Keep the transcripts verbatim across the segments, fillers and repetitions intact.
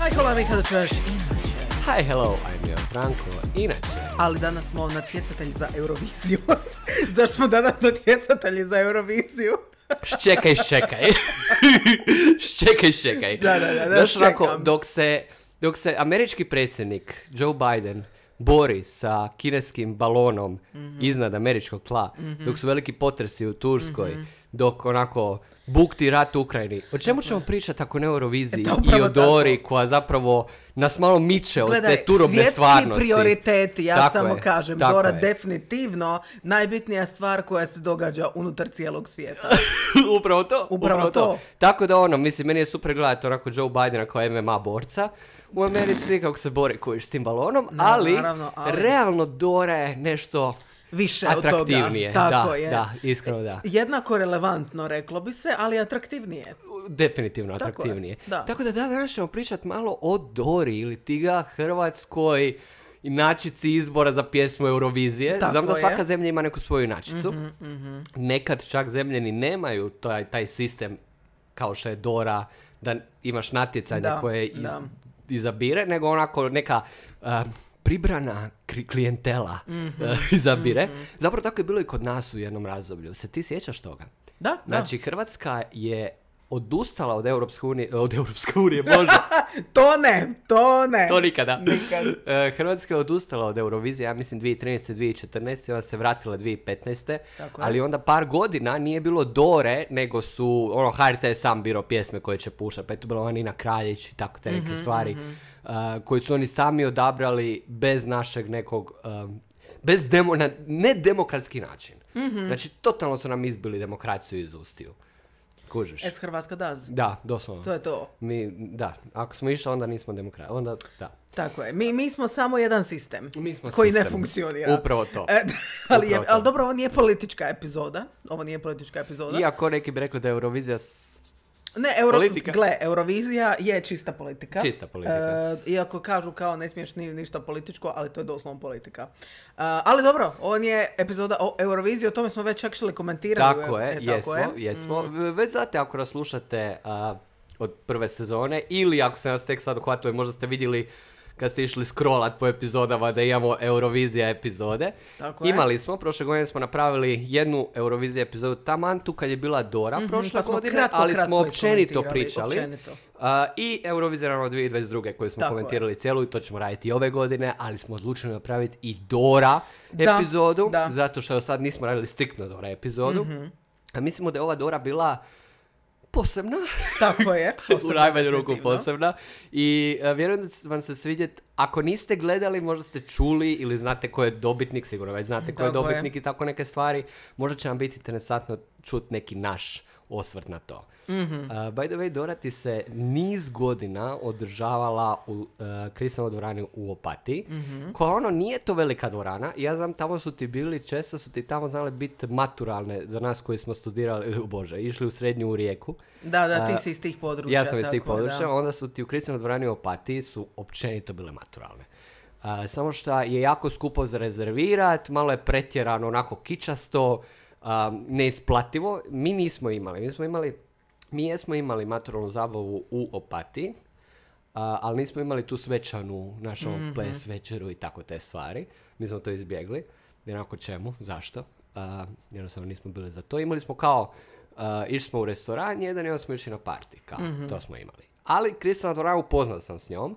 Hi, hello, Mihajlo Češ, inače. Hi, hello, I'm your Franko, inače. Ali danas smo natjecatelji za Euroviziju. Zašto smo danas natjecatelji za Euroviziju? Ščekaj, ščekaj. ščekaj, ščekaj. Da, da, da, da Znaš, ščekam. onako, dok se, dok se američki predsjednik Joe Biden bori sa kineskim balonom mm-hmm. iznad američkog tla, mm-hmm. dok su veliki potresi u Turskoj, mm-hmm. dok onako bukti rat u Ukrajini. O čemu ćemo pričati ako ne o Euroviziji e, i o Dori tako. Koja zapravo nas malo miče od Gledaj, te turobne stvarnosti. Svjetski prioriteti, ja tako samo je, kažem, Dora je. Definitivno najbitnija stvar koja se događa unutar cijelog svijeta. upravo to. Upravo, upravo to. to. Tako da ono, mislim, meni je super gledati onako Joe Bidena kao em em a borca u Americi, kako se bori kojiš s tim balonom, no, ali, naravno, ali realno Dora je nešto više atraktivnije. Od toga. Tako da, je. da, iskreno da. Jednako relevantno, reklo bi se, ali atraktivnije. Definitivno atraktivnije. Tako, da. Tako da danas ćemo pričati malo o Dori ili tiga Hrvatskoj inačici izbora za pjesmu Eurovizije. Tako Znam da svaka je. zemlja ima neku svoju inačicu. Mm-hmm, mm-hmm. Nekad čak zemlje ni nemaju taj, taj sistem kao što je Dora, da imaš natjecanje da, koje da. izabire, nego onako neka uh, pribrana klijentela mm-hmm. uh, izabire. Mm-hmm. Zapravo tako je bilo i kod nas u jednom razdoblju. Se ti sjećaš toga? Da, Znači, da. Hrvatska je odustala od Europske unije, od Europske unije, Bože. to ne, to ne. To nikada. Nikad. Uh, Hrvatska je odustala od Eurovizije, ja mislim dvije tisuće trinaeste. dvije tisuće četrnaeste. Ona se vratila dvije tisuće petnaeste. Ali onda par godina nije bilo Dore, nego su, ono, ha er te je sam birao pjesme koje će puštati. Pa je tu bila Nina Kraljić i tako te neke mm-hmm, stvari. Mm-hmm. Uh, koji su oni sami odabrali bez našeg nekog, um, bez demo, na nedemokratski način. Mm-hmm. Znači, totalno su nam izbili demokraciju iz ustiju. Kužiš. Es Hrvatska daz. Da, doslovno. To je to. Mi, da, ako smo išli, onda nismo demokrati. Onda, da. Tako je. Mi, mi smo samo jedan sistem mi smo koji sistem. ne funkcionira. Upravo to. E, ali, Upravo je, to. ali dobro, ovo nije politička epizoda. Ovo nije politička epizoda. Iako neki bi rekli da je Eurovizija s... Ne, Euro... politika. Gle, Eurovizija je čista politika. Čista politika. E, iako kažu kao ne smiješ ni, ništa političko, ali to je doslovno politika. E, ali dobro, on je epizoda o Euroviziji, o tome smo već čak šli komentirati. Tako je, e, jesmo, tako je. jesmo. Mm. Već znate ako nas slušate uh, od prve sezone, ili ako se nas tek sad uhvatili, možda ste vidjeli kad ste išli scrollat po epizodama da imamo Eurovizija epizode. Tako Imali je. smo, prošle godine smo napravili jednu Eurovizija epizodu taman tu kad je bila Dora mm-hmm, prošle pa godine, kratko, ali kratko smo općenito pričali. Općenito. Uh, I Eurovizija naravno dvije tisuće dvadeset druge koju smo Tako komentirali je. cijelu i to ćemo raditi i ove godine, ali smo odlučili napraviti i Dora da, epizodu, da. zato što sad nismo radili striktno Dora epizodu. Mm-hmm. A mislimo da je ova Dora bila posebna. Tako je. U najmanju ruku posebna. I uh, vjerujem da će vam se svidjeti. Ako niste gledali, možda ste čuli ili znate ko je dobitnik, sigurno već znate ko je tako dobitnik je. I tako neke stvari. Možda će vam biti interesantno čuti neki naš osvrt na to. Mm-hmm. Uh, by the way, Dora ti se niz godina održavala u uh, Kristovoj dvorani u Opatiji, mm-hmm. koja ono nije to velika dvorana. Ja znam, tamo su ti bili, često su ti tamo znali biti maturalne za nas koji smo studirali, uh, bože, išli u srednju u Rijeku. Da, da, ti uh, si iz tih područja. Ja sam iz tih područja, da. onda su ti u Kristovoj dvorani u Opatiji su općenito bile maturalne. Uh, samo što je jako skupo za rezervirat, malo je pretjerano, onako kičasto, uh, neisplativo. Mi nismo imali, mi smo imali Mi jesmo imali maturalnu zabavu u Opatiji, uh, ali nismo imali tu svečanu našu mm-hmm. ples večeru i tako te stvari. Mi smo to izbjegli. Jednako čemu? Zašto? Uh, jednostavno nismo bili za to. Imali smo kao, uh, išli smo u restoran jedan i onda smo išli na party. Kao, mm-hmm. to smo imali. Ali Kristalna dvorana upoznao sam s njom.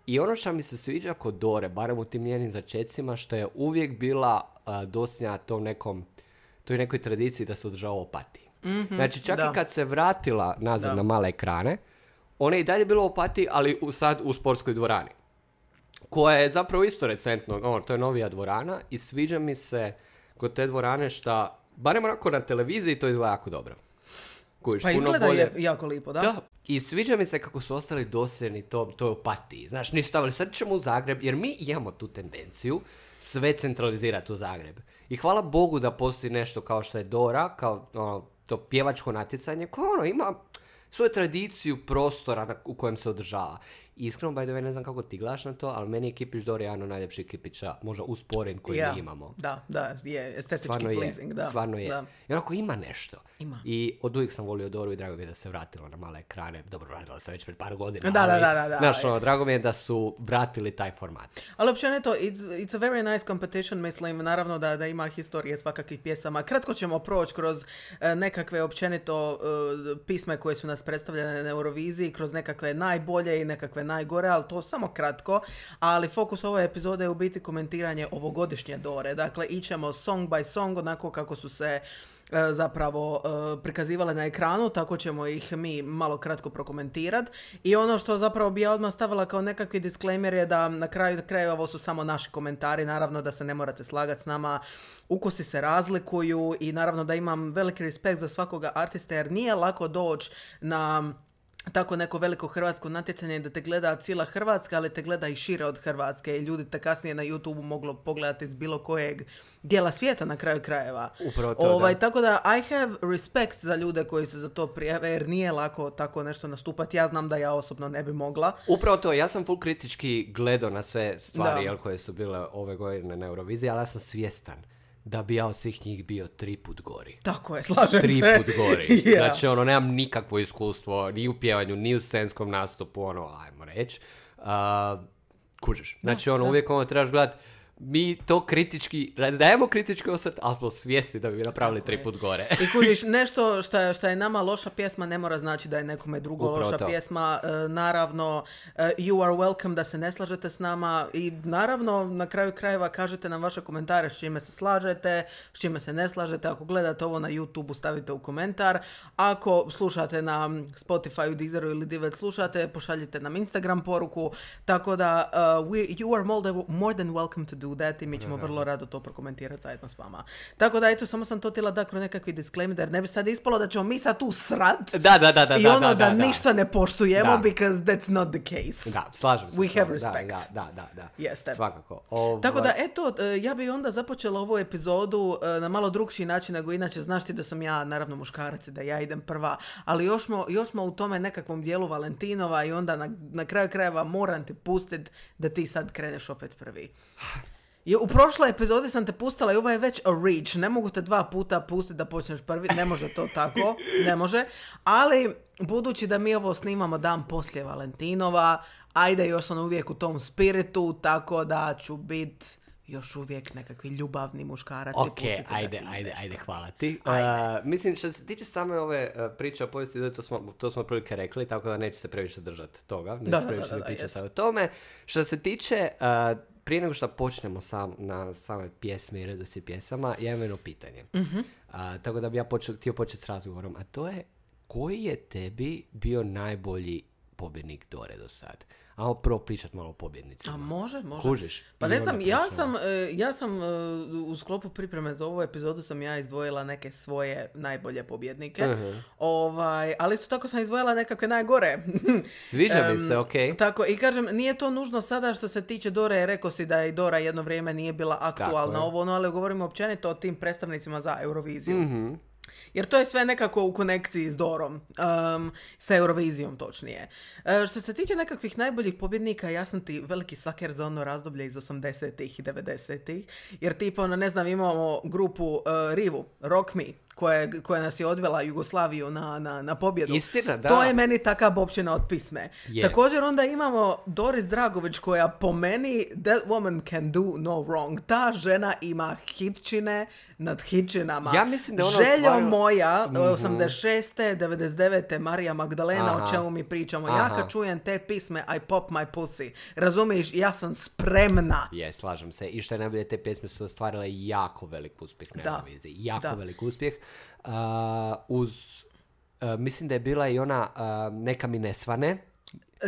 I ono što mi se sviđa kod Dore, barem u tim njenim začecima, što je uvijek bila uh, dosljedna tom nekom, toj nekoj tradiciji da se održava u Opatiji. Mm-hmm, znači čak da. I kad se vratila nazad da. Na male ekrane, ona je i dalje bila u Opatiji, ali u, sad u sportskoj dvorani. Koja je zapravo isto recentno, no, to je novija dvorana i sviđa mi se kod te dvorane šta, barem onako na televiziji to izgleda jako dobro. Kojiš, pa izgleda bolje. Je jako lipo, da? Da. I sviđa mi se kako su ostali dosljedni to, toj Opatiji. Znaš, nisu stavili, sad ćemo u Zagreb, jer mi imamo tu tendenciju sve centralizirati u Zagreb. I hvala Bogu da postoji nešto kao što je Dora, kao ono, to pjevačko natjecanje koje ono ima svoju tradiciju prostora na, u kojem se održava. iskreno, by the way, ne znam kako ti gledaš na to, ali meni je Kipić Dora jedan od najljepših kipića, možda usporen koji yeah. mi imamo. Da, da, je estetički stvarno pleasing. Je, da. stvarno je. Da. I onako ima nešto. Ima. I od uvijek sam volio Doru i drago mi je da se vratila na male ekrane. Dobro, vratila se već pred par godina. Da, ali, da, da, da, da. Znaš, ono, drago mi je da su vratili taj format. Ali općenito, it's, it's a very nice competition, mislim, naravno da, da ima historije svakakvih pjesama. Kratko ćemo proći kroz uh, nekakve općenito uh, pisme koje su nas predstavljene na Euroviziji, kroz nekakve najbolje i nekakve najgore, ali to samo kratko. Ali fokus ove epizode je u biti komentiranje ovogodišnje Dore. Dakle, ićemo song by song, onako kako su se zapravo prikazivale na ekranu, tako ćemo ih mi malo kratko prokomentirati. I ono što zapravo bi ja odmah stavila kao nekakvi disclaimer je da na kraju krajeva ovo su samo naši komentari, naravno da se ne morate slagati s nama, ukusi se razlikuju i naravno da imam veliki respekt za svakoga artista jer nije lako doći na tako neko veliko hrvatsko natjecanje da te gleda cijela Hrvatska, ali te gleda i šire od Hrvatske i ljudi te kasnije na YouTube moglo pogledati iz bilo kojeg dijela svijeta na kraju krajeva. Upravo to, ovaj, da. Tako da I have respect za ljude koji se za to prijave jer nije lako tako nešto nastupati. Ja znam da ja osobno ne bi mogla. Upravo to, ja sam full kritički gledao na sve stvari jel, koje su bile ove godine na Euroviziji, ali ja sam svjestan da bi ja od svih njih bio tri put gori. Tako je, slažem tri se. Tri put gori. yeah. Znači, ono, nemam nikakvo iskustvo ni u pjevanju, ni u scenskom nastupu, ono, ajmo reći. Uh, kužiš. Znači, ono, da. Uvijek ono trebaš gledati, mi to kritički, dajemo kritički osvrt, ali smo svjesni da bi napravili tri put gore. I kužiš, nešto što, što je nama loša pjesma ne mora znači da je nekome drugo Upravo loša to. pjesma. E, naravno, e, you are welcome da se ne slažete s nama i naravno na kraju krajeva kažete nam vaše komentare s čime se slažete, s čime se ne slažete. Ako gledate ovo na YouTube stavite u komentar. Ako slušate na Spotify, Deezeru ili gdje već slušate, pošaljite nam Instagram poruku. Tako da uh, we, you are more than, more than welcome to do that i mi ćemo vrlo rado to prokomentirati zajedno s vama. Tako da, eto, samo sam to htjela da kroz nekakvi disclaimer, jer ne bi sad ispalo da ćemo mi sad tu srat da, da, da, da, i ono da, da, da ništa da. ne poštujemo, da. because that's not the case. Da, slažem se. We have respect. Da, da, da, da. Jeste. Svakako. Ovo... Tako da, eto, ja bi onda započela ovu epizodu na malo drugčiji način nego inače. Znaš ti da sam ja, naravno, muškarac i da ja idem prva, ali još smo, još smo u tome nekakvom dijelu Valentinova i onda na, na kraju krajeva moram ti pustiti da ti sad kreneš opet prvi. I u prošloj epizodi sam te pustila i ovo je već a reach. Ne mogu te dva puta pustiti da počneš prvi. Ne može to tako. Ne može. Ali, budući da mi ovo snimamo dan poslije Valentinova, ajde, još sam uvijek u tom spiritu, tako da ću biti još uvijek nekakvi ljubavni muškarac. Ok, ajde, ajde, ajde, hvala ti. Ajde. Uh, mislim, što se tiče same ove uh, priče o povijesti, to smo, to smo prilike rekli, tako da neće se previše držati toga. Neće da, se previše da, da, da, pričati yes. sad o tome. Što se tiče... Uh, prije nego što počnemo sam, na same pjesme i redoslijed pjesama, ja imam jedno pitanje. Mm-hmm. A, tako da bi ja počel, htio početi s razgovorom. A to je, koji je tebi bio najbolji pobjednik Dore do sad? Ajmo prvo pričati malo o pobjednicima. A može, može. Kužiš? Pa ne znam, ja sam, ja sam u sklopu pripreme za ovu epizodu sam ja izdvojila neke svoje najbolje pobjednike. Uh-huh. Ovaj, ali isto tako sam izdvojila nekakve najgore. Sviđa mi se, okej. Okay. Tako, i kažem, nije to nužno sada što se tiče Dore, rekao si da je Dora jedno vrijeme nije bila aktualna ovo, no, ali govorimo općenito o tim predstavnicima za Euroviziju. Mhm. Jer to je sve nekako u konekciji s Dorom, um, sa Eurovizijom točnije. Uh, što se tiče nekakvih najboljih pobjednika, ja sam ti veliki saker za ono razdoblje iz osamdesetih i devedesetih, jer tipa, ono, ne znam, imamo grupu uh, Rivu, Rock Me, koja, koja nas je odvela Jugoslaviju na, na, na pobjedu. Istina, da. To je meni taka bobčina od pisme. Yeah. Također onda imamo Doris Dragović koja po meni that woman can do no wrong. Ta žena ima hitčine nad hitčinama. Ja mislim da ona Željo stvarno... moja, mm-hmm. osamdeset šeste devedeset devete Marija Magdalena, Aha. o čemu mi pričamo. Aha. Ja kad čujem te pisme, I pop my pussy. Razumiješ, ja sam spremna. Je, slažem se. I što je najbolje, te pjesme su ostvarile jako velik uspjeh na Euroviziji. Jako da. velik uspjeh. Uh, uz, uh, mislim da je bila i ona uh, Neka mi ne svane.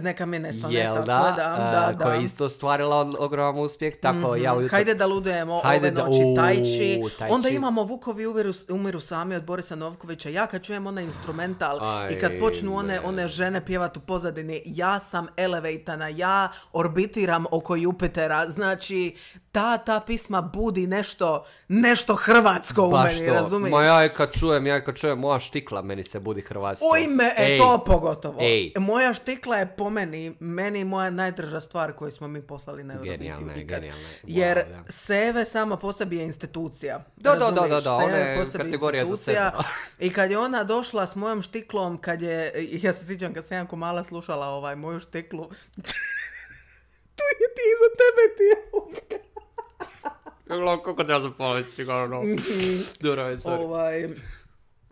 Neka mi ne svane, Jel tako da, da, da, uh, koja je isto ostvarila ogroman uspjeh, tako mm-hmm. ja ujutro... Hajde da ludujemo, Hajde ove da, noći, u, tajči. tajči. Onda imamo Vukovi umiru, umiru sami od Borisa Novkovića. Ja kad čujem onaj instrumental Aj, i kad počnu one, one žene pjevat u pozadini, ja sam elevatana, ja orbitiram oko Jupitera. Znači, ta, ta pisma budi nešto, nešto hrvatsko Baš u meni, to. razumiješ? Ma ja kad čujem, ja kad čujem moja štikla, meni se budi hrvatsko. Oj me, e, to pogotovo. Ej. Moja štikla je po po meni, meni moja najdraža stvar koju smo mi poslali na Euroviziju. Genijalna je, ikad. genijalna je. Wow, Jer da. Seve sama po sebi je institucija. Da, da, da, razumiješ? da, da, ona Seve je po sebi kategorija za institucija. sebe. I kad je ona došla s mojom štiklom, kad je, ja se sjećam kad sam jako mala slušala ovaj moju štiklu, tu je ti iza tebe ti. Gledam kako treba zapaliti, ono, dobro je, sorry. Ovaj,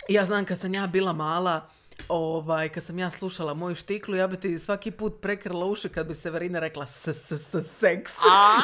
ja znam kad sam ja bila mala, ovaj, kad sam ja slušala moju štiklu, ja bi ti svaki put prekrila uši kad bi Severina rekla s, s, s, seks.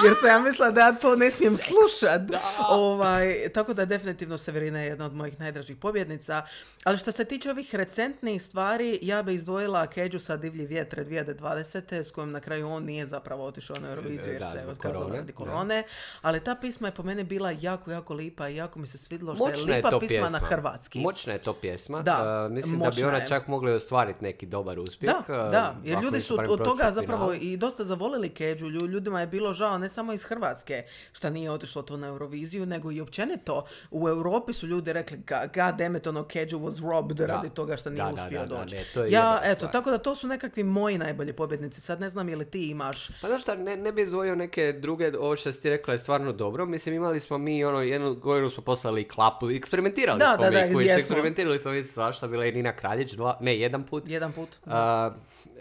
Jer sam ja mislila da ja to ne smijem slušat. Ovaj, tako da definitivno Severina je jedna od mojih najdražih pobjednica. Ali što se tiče ovih recentnih stvari, ja bi izdvojila Keđu sa Divlji vjetre dvije tisuće dvadesete s kojom na kraju on nije zapravo otišao na Euroviziju jer Da, se je zbog otkazao korone, radi korone. Ali ta pisma je po meni bila jako, jako lipa i jako mi se svidjelo što Moćna je lipa to pisma na hrvatski. Moćna je to pjesma. Da, Uh, mislim da moćna bi ona je. čak mogla ostvariti neki dobar uspjeh. Da, uh, da, jer ako ljudi nisu su barem od prošli toga u zapravo finalu. i dosta zavolili Keđu. Lju- Ljudima je bilo žao ne samo iz Hrvatske što nije otišlo to na Euroviziju, nego i općenito u Europi su ljudi rekli "Ga- God damn it, ono Keđu was robbed Da. radi toga što nije Da, da, uspio da, da, doći." ne, to je Ja, jebena eto, stvar. tako da to su nekakvi moji najbolji pobjednici. Sad ne znam je li ti imaš. Pa znaš šta, ne, ne bi izdvojio neke druge, ovo što si ti rekla je stvarno dobro. Mislim, imali smo mi, ono, jednu godinu smo poslali klapu, eksperimentirali Da, smo da, mi, da, kužiš, jesmo. eksperimentirali smo mi svašta, bila je Nina Kraljić, dva, ne, jedan put. Jedan put. Uh,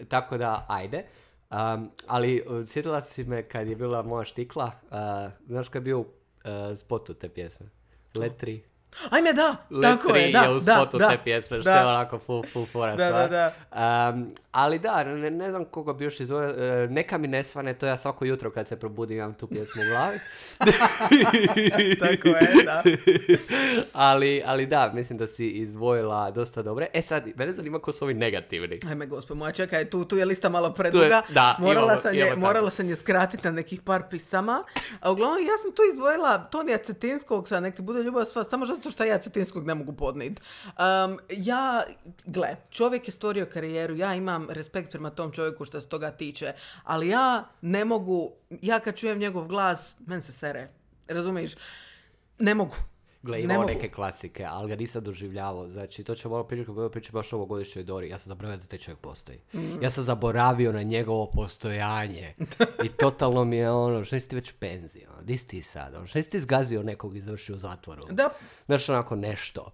tako da, ajde. Um, ali uh, sjetila si me kad je bila moja štikla, uh, znaš kad je bio uh, spotu te pjesme? Letri. Ajme, da, tako je, Letri da, je u da, spotu da, te pjesme, što da. je onako full, full fora Da, stvar. da, Um, ali da, ne, ne znam koga bi još izdvojio, uh, neka mi ne svane, to ja svako jutro kad se probudim imam tu pjesmu u glavi. Tako je, da. ali, ali da, mislim da si izdvojila dosta dobre. E sad, mene zanima ko su ovi negativni. Ajme, gospod moja, čekaj, tu, tu je lista malo preduga. da, morala, imamo- sam je, imamo morala tako. sam je skratiti na nekih par pisama. A uglavnom, ja sam tu izdvojila Tonija Cetinskog, sad nek ti bude ljubav sva, samo zato što ja Cetinskog ne mogu podnijeti. Um, ja, gle, čovjek je stvorio karijeru, ja imam respekt prema tom čovjeku što se toga tiče, ali ja ne mogu, ja kad čujem njegov glas, men se sere, razumiješ? Ne mogu. Gle, Ne imao mogu. neke klasike, ali ga nisam doživljavao. Znači, to ćemo malo pričati kako budemo pričati baš o ovogodišnjoj Dori. Ja sam zaboravio da taj čovjek postoji. Mm. Ja sam zaboravio na njegovo postojanje. I totalno mi je ono, što nisi ti već u penziji? Ono, di si ti sad? Ono, što nisi ti zgazio nekog i završio u zatvoru? Da, Znaš, onako nešto.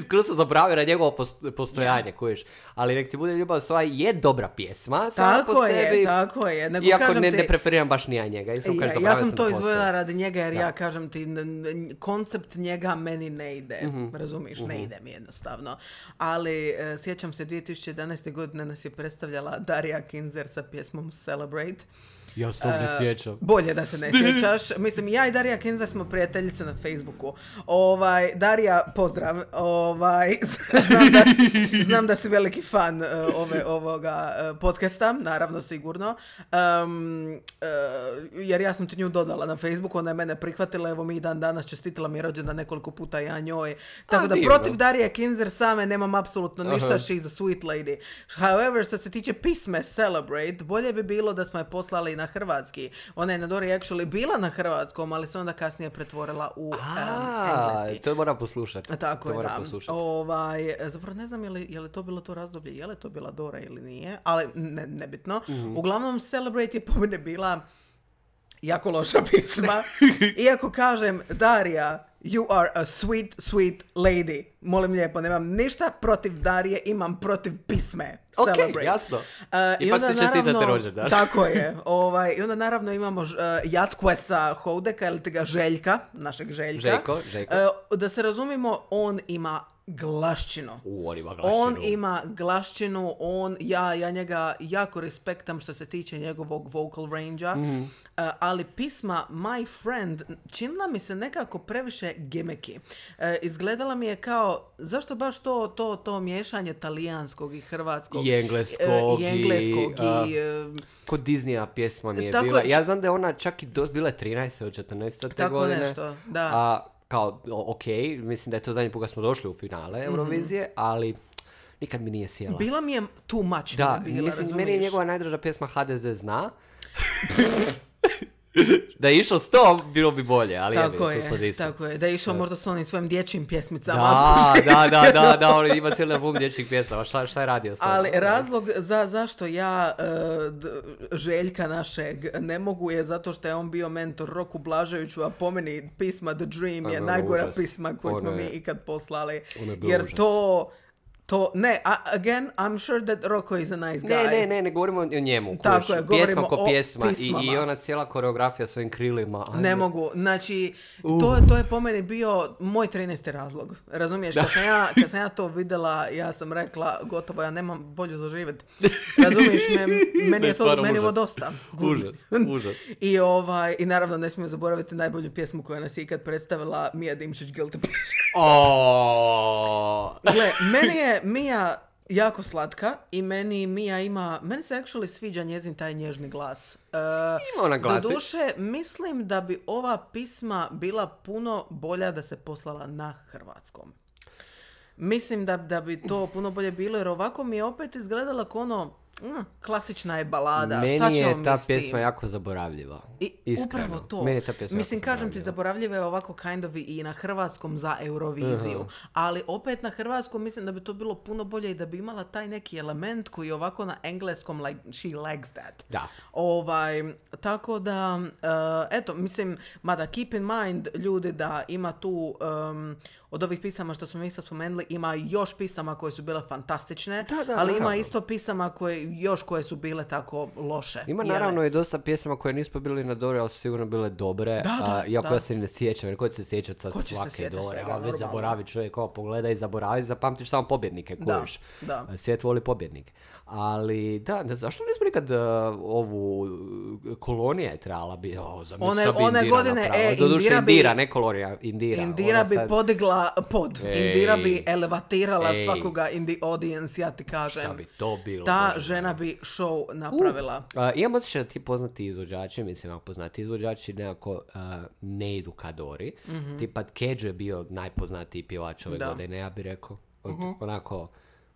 Skoro sam zaboravio na njegovo pos- postojanje, kojiš. Ali nek ti bude ljubav sva je dobra pjesma. sama po tako je, sebi. tako je. Nego Iako kažem ne, ti- ne preferiram baš ni ja njega. Iskreno Ja, kažem, ja zaboravio sam da to postoji. izdvojila radi njega jer Da. ja kažem ti, n- n- koncept njega meni ne ide, Mhm. razumiješ, ne ide mi jednostavno. Ali e, sjećam se dvije tisuće jedanaeste. godine nas je predstavljala Darija Kinzer sa pjesmom Celebrate. Ja se tog ne E, sjećam. Bolje da se ne sjećaš. Mislim, ja i Darija Kinzer smo prijateljice na Facebooku. Ovaj, Darija, pozdrav. Ovaj, znam, da, znam da si veliki fan uh, ove, ovoga uh, podcasta, naravno, sigurno. Um, uh, jer ja sam ti nju dodala na Facebooku, ona je mene prihvatila, evo mi i dan danas čestitila mi je rođendan nekoliko puta, ja njoj. Tako da divno. protiv Darije Kinzer same nemam apsolutno ništa, Aha. she's a sweet lady. However, što se tiče pisme Celebrate, bolje bi bilo da smo je poslali na hrvatski. Ona je na Dori actually bila na hrvatskom, ali se onda kasnije pretvorila u um, A, engleski. to moram poslušati. Tako to je, moram da. poslušati. Ovaj, zapravo ne znam je li, je li to bilo to razdoblje, je li to bila Dora ili nije, ali ne, nebitno. Mhm. Uglavnom, Celebrate je po mene bila jako loša pisma. Iako kažem, Darija, you are a sweet, sweet lady. Molim lijepo, nemam ništa protiv Darije, imam protiv pisme. Ok, Celebrate. jasno. Uh, Ipak se čestitate rođendan. Tako je. Ovaj, I onda naravno imamo uh, Jackquesa Houdeka, ili ti ga Željka, našeg Željka. Željko, Željko. Uh, da se razumimo, on ima glašćinu. U, on ima glašinu. On ima glašćinu, on, ja, ja njega jako respektam što se tiče njegovog vocal range-a, Mhm. uh, ali pisma My Friend činila mi se nekako previše gimmicky. Uh, izgledala mi je kao, zašto baš to, to, to miješanje talijanskog i hrvatskog? I engleskog uh, i, engleskog i, i, uh, Kod Disneya pjesma mi je Tako bila. je. Ja znam da je ona čak i dos, bila je trinaeste od četrnaeste Tako godine. nešto, da. A, kao, o- ok, mislim da je to zadnji put kad smo došli u finale Eurovizije, ali nikad mi nije sjela. bila mi je too much. Da, mi je bila, mislim, meni je razumiješ? njegova najdraža pjesma H D Z zna. Da je išao s tom, bilo bi bolje, ali tako je, je, tako je. Da je išao možda s onim svojim dječjim pjesmicama. Da, da, da, da, da, on ima cijeli album dječjih pjesama. Šta, šta je radio s ali razlog za zašto ja uh, d, Željka našeg ne mogu je zato što je on bio mentor Roku Blaževiću, a po meni pisma The Dream je, je najgora užas. pisma koju ono smo mi ikad poslali. Jer užas. to... To, ne, again, I'm sure that Roko is a nice guy. Ne, ne, ne, ne govorimo o njemu. Tako kuš, je, govorimo pjesma ko o pjesma pismama. I, i ona cijela koreografija s ovim krilima. Ajde. Ne mogu, znači, uh. to, to je po meni bio moj trinaesti razlog. Razumiješ, kad sam, ja, kad sam ja to videla, ja sam rekla, gotovo, ja nemam bolju za živjet. Razumiješ, me, meni je to, meni ovo dosta. Užas, užas. I, ovaj, I naravno ne smiju zaboraviti najbolju pjesmu koja nas je ikad predstavila, Mija Dimšić, Guilty Pleasure. Oh. Gle, meni je Mija jako slatka i meni Mija ima, meni se actually sviđa njezin taj nježni glas. Uh, ima ona glasi. Doduše, mislim da bi ova pisma bila puno bolja da se poslala na hrvatskom. Mislim da, da bi to puno bolje bilo, jer ovako mi je opet izgledala kao ono, mm, klasična je balada. Meni Šta ćemo je ta mi s tim? pjesma jako zaboravljiva. I iskreno. Upravo to. Meni je ta pjesma Mislim, kažem ti, zaboravljiva je ovako kind of i na hrvatskom za Euroviziju. Uh-huh. Ali opet na hrvatskom mislim da bi to bilo puno bolje i da bi imala taj neki element koji je ovako na engleskom, like, she likes that. Da. Ovaj, tako da, uh, eto, mislim, mada keep in mind, ljudi, da ima tu... Um, od ovih pisama što smo mi sad spomenuli, ima još pisama koje su bile fantastične, da, da, ali naravno. Ima isto pisama koje, još koje su bile tako loše. Ima jele. Naravno i dosta pjesama koje nismo bili na Dore, ali su sigurno bile dobre, da, da, a, iako da. ja se ne sjećam, jer ko će se sjećati sad svake Dore, a već zaboravi čovjek, ovo pogleda i zaboravi, zapamtiš samo pobjednike, kojiš. Da, da. Svijet voli pobjednike. Ali da, ne, zašto nismo nikad uh, ovu kolonija je trebala biti, oh, one, one Indira godine, e, Doduše Indira bi, Indira, ne kolonija, Indira. Indira bi sad... podigla pod, ej, Indira bi elevatirala ej, svakoga in the audience, ja ti kažem. Šta bi to bilo? Ta Bože, žena bi show napravila. Uh, uh, imam osjećaj da ti poznati izvođači, mislim, ako poznati izvođači nekako uh, ne idu ka Dori. Mm-hmm. Tipa Kedžo je bio najpoznatiji pjevač ove da. godine, ja bih rekao. Od, uh-huh. Onako,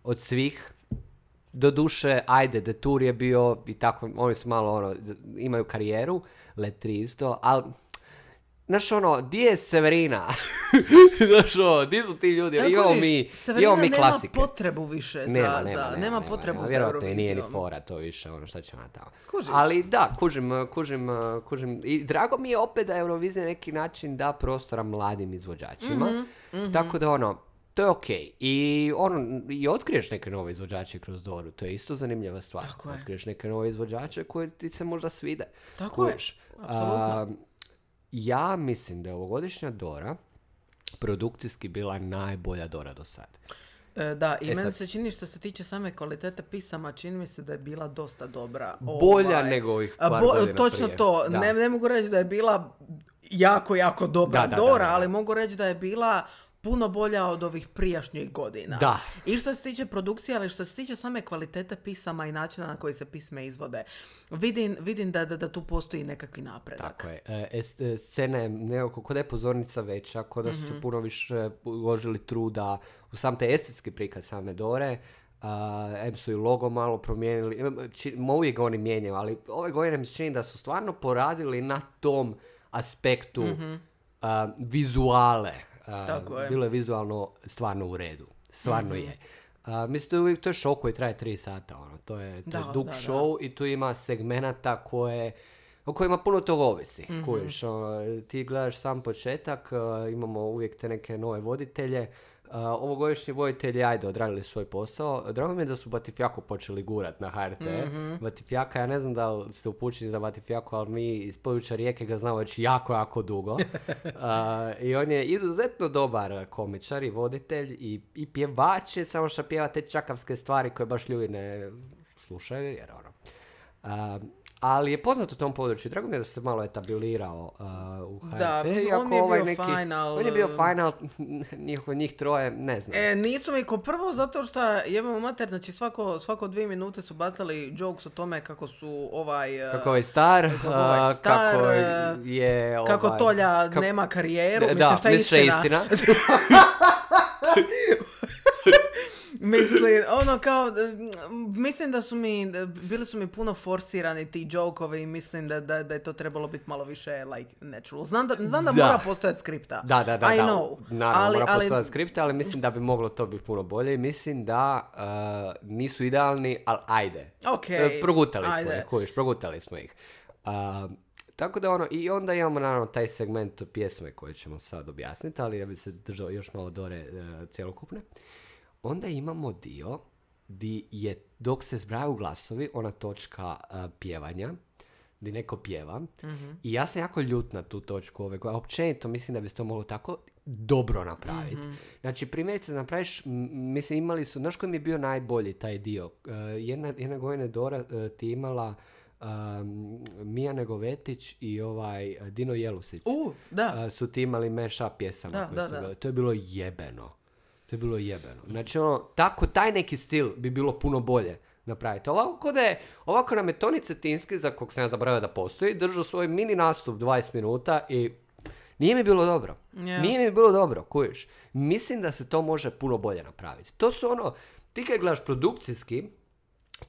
od svih. Doduše, ajde, Detour je bio i tako, oni su malo, ono, imaju karijeru, Letri isto, ali, znaš, ono, di je Severina? Znaš, ono, di su ti ljudi? Ja, imamo mi, imamo mi klasike. nema potrebu više za, nema, za, nema, nema, nema potrebu nema, za vjerojatno Eurovizijom. Vjerojatno nije ni fora to više, ono, šta će ona tamo. Kužiš. Ali da, kužim, kužim, kužim. I drago mi je opet da Eurovizija na neki način da prostora mladim izvođačima. Mm-hmm, mm-hmm. Tako da, ono, to je okej. Okay. I ono, i otkriješ neke nove izvođače kroz Doru. To je isto zanimljiva stvar. Tako je. Otkriješ neke nove izvođače koje ti se možda svide. Tako Kuješ. je. Apsolutno. Uh, ja mislim da je ovogodišnja Dora produkcijski bila najbolja Dora do sad. E, da, i e meni sad, se čini što se tiče same kvalitete pisama, čini mi se da je bila dosta dobra. Bolja ovaj, nego ovih par bo, godina Točno prije. to. Ne, ne mogu reći da je bila jako, jako dobra da, da, Dora, da, da, da. ali mogu reći da je bila puno bolja od ovih prijašnjih godina. Da. I što se tiče produkcije, ali što se tiče same kvalitete pisama i načina na koji se pisme izvode, vidim, vidim da, da, da tu postoji nekakvi napredak. Tako je. E, scena je nekako, kod je pozornica veća, kod da su mm-hmm. puno više uložili truda u sam te estetski prikaz same Dore. Uh, em su i logo malo promijenili. Či, uvijek ga oni mijenjaju, ali ove godine mi se čini da su stvarno poradili na tom aspektu mm-hmm. uh, vizuale. Uh, bilo je vizualno stvarno u redu. Stvarno mm-hmm. je. Uh, mislim, to je show koji traje tri sata. Ono. To je, to da, je dug da, show da. I tu ima segmenata koje, o kojima puno toga ovisi. Mm-hmm. Kujiš, ono, ti gledaš sam početak, uh, imamo uvijek te neke nove voditelje. Uh, ovogodišnji voditelji, ajde, odradili svoj posao. Drago mi je da su Batifjaku počeli gurat na ha er te. Mm-hmm. Batifjaka, ja ne znam da li ste upućeni za Batifjaku, ali mi iz područja Rijeke ga znamo već jako, jako dugo. uh, I on je izuzetno dobar komičar i voditelj i, i pjevač je, samo što pjeva te čakavske stvari koje baš ljudi ne slušaju, jer ono... Uh, ali je poznat u tom području. Drago mi je da se malo etablirao uh, u ha er te. Da, on je ovaj bio neki, final. On je bio final, njih, njih troje, ne znam. E, nisu mi ko prvo, zato što jebamo mater, znači svako, svako dvije minute su bacali jokes o tome kako su ovaj... Kako ovaj star, kako, ovaj star, kako je... Ovaj, kako Tolja kako, nema karijeru, da, mislim šta je istina. istina. Mislim, ono kao, mislim da su mi, bili su mi puno forsirani ti joke-ovi i mislim da, da, da je to trebalo biti malo više like natural. Znam da, znam da, Da. mora postojati skripta. Da, da, da. I da. know. Naravno, ali, mora ali, postojati skripta, ali mislim da bi moglo to biti puno bolje i mislim da uh, nisu idealni, ali ajde. Okej, E, progutali smo ajde. ih, kojiš, progutali smo ih. Uh, tako da ono, i onda imamo naravno taj segment pjesme koje ćemo sad objasniti, ali ja bi se držao još malo dore uh, cjelokupne. Onda imamo dio di je, dok se zbrajaju glasovi, ona točka uh, pjevanja, di neko pjeva. Mm-hmm. I ja sam jako ljut na tu točku ove godine. Općenito mislim da bi se to moglo tako dobro napraviti. Mm-hmm. Znači, primjerice, napraviš, m, mislim, imali su, znaš koji mi je bio najbolji taj dio? Uh, jedna, jedna godina Dora uh, ti imala um, Mija Negovetić i ovaj uh, Dino Jelusic. Uh, da. Uh, su ti imali mashup pjesama. Da, koje da, su da. bile. To je bilo jebeno. To je bilo jebeno. Znači, ono, tako, taj neki stil bi bilo puno bolje napraviti. Ovako, kod je, ovako nam je Toni Cetinski, za kog sam ja zaboravio da postoji, držao svoj mini nastup dvadeset minuta i nije mi bilo dobro. Yeah. Nije mi bilo dobro, kujiš. Mislim da se to može puno bolje napraviti. To su ono, ti kad gledaš produkcijski,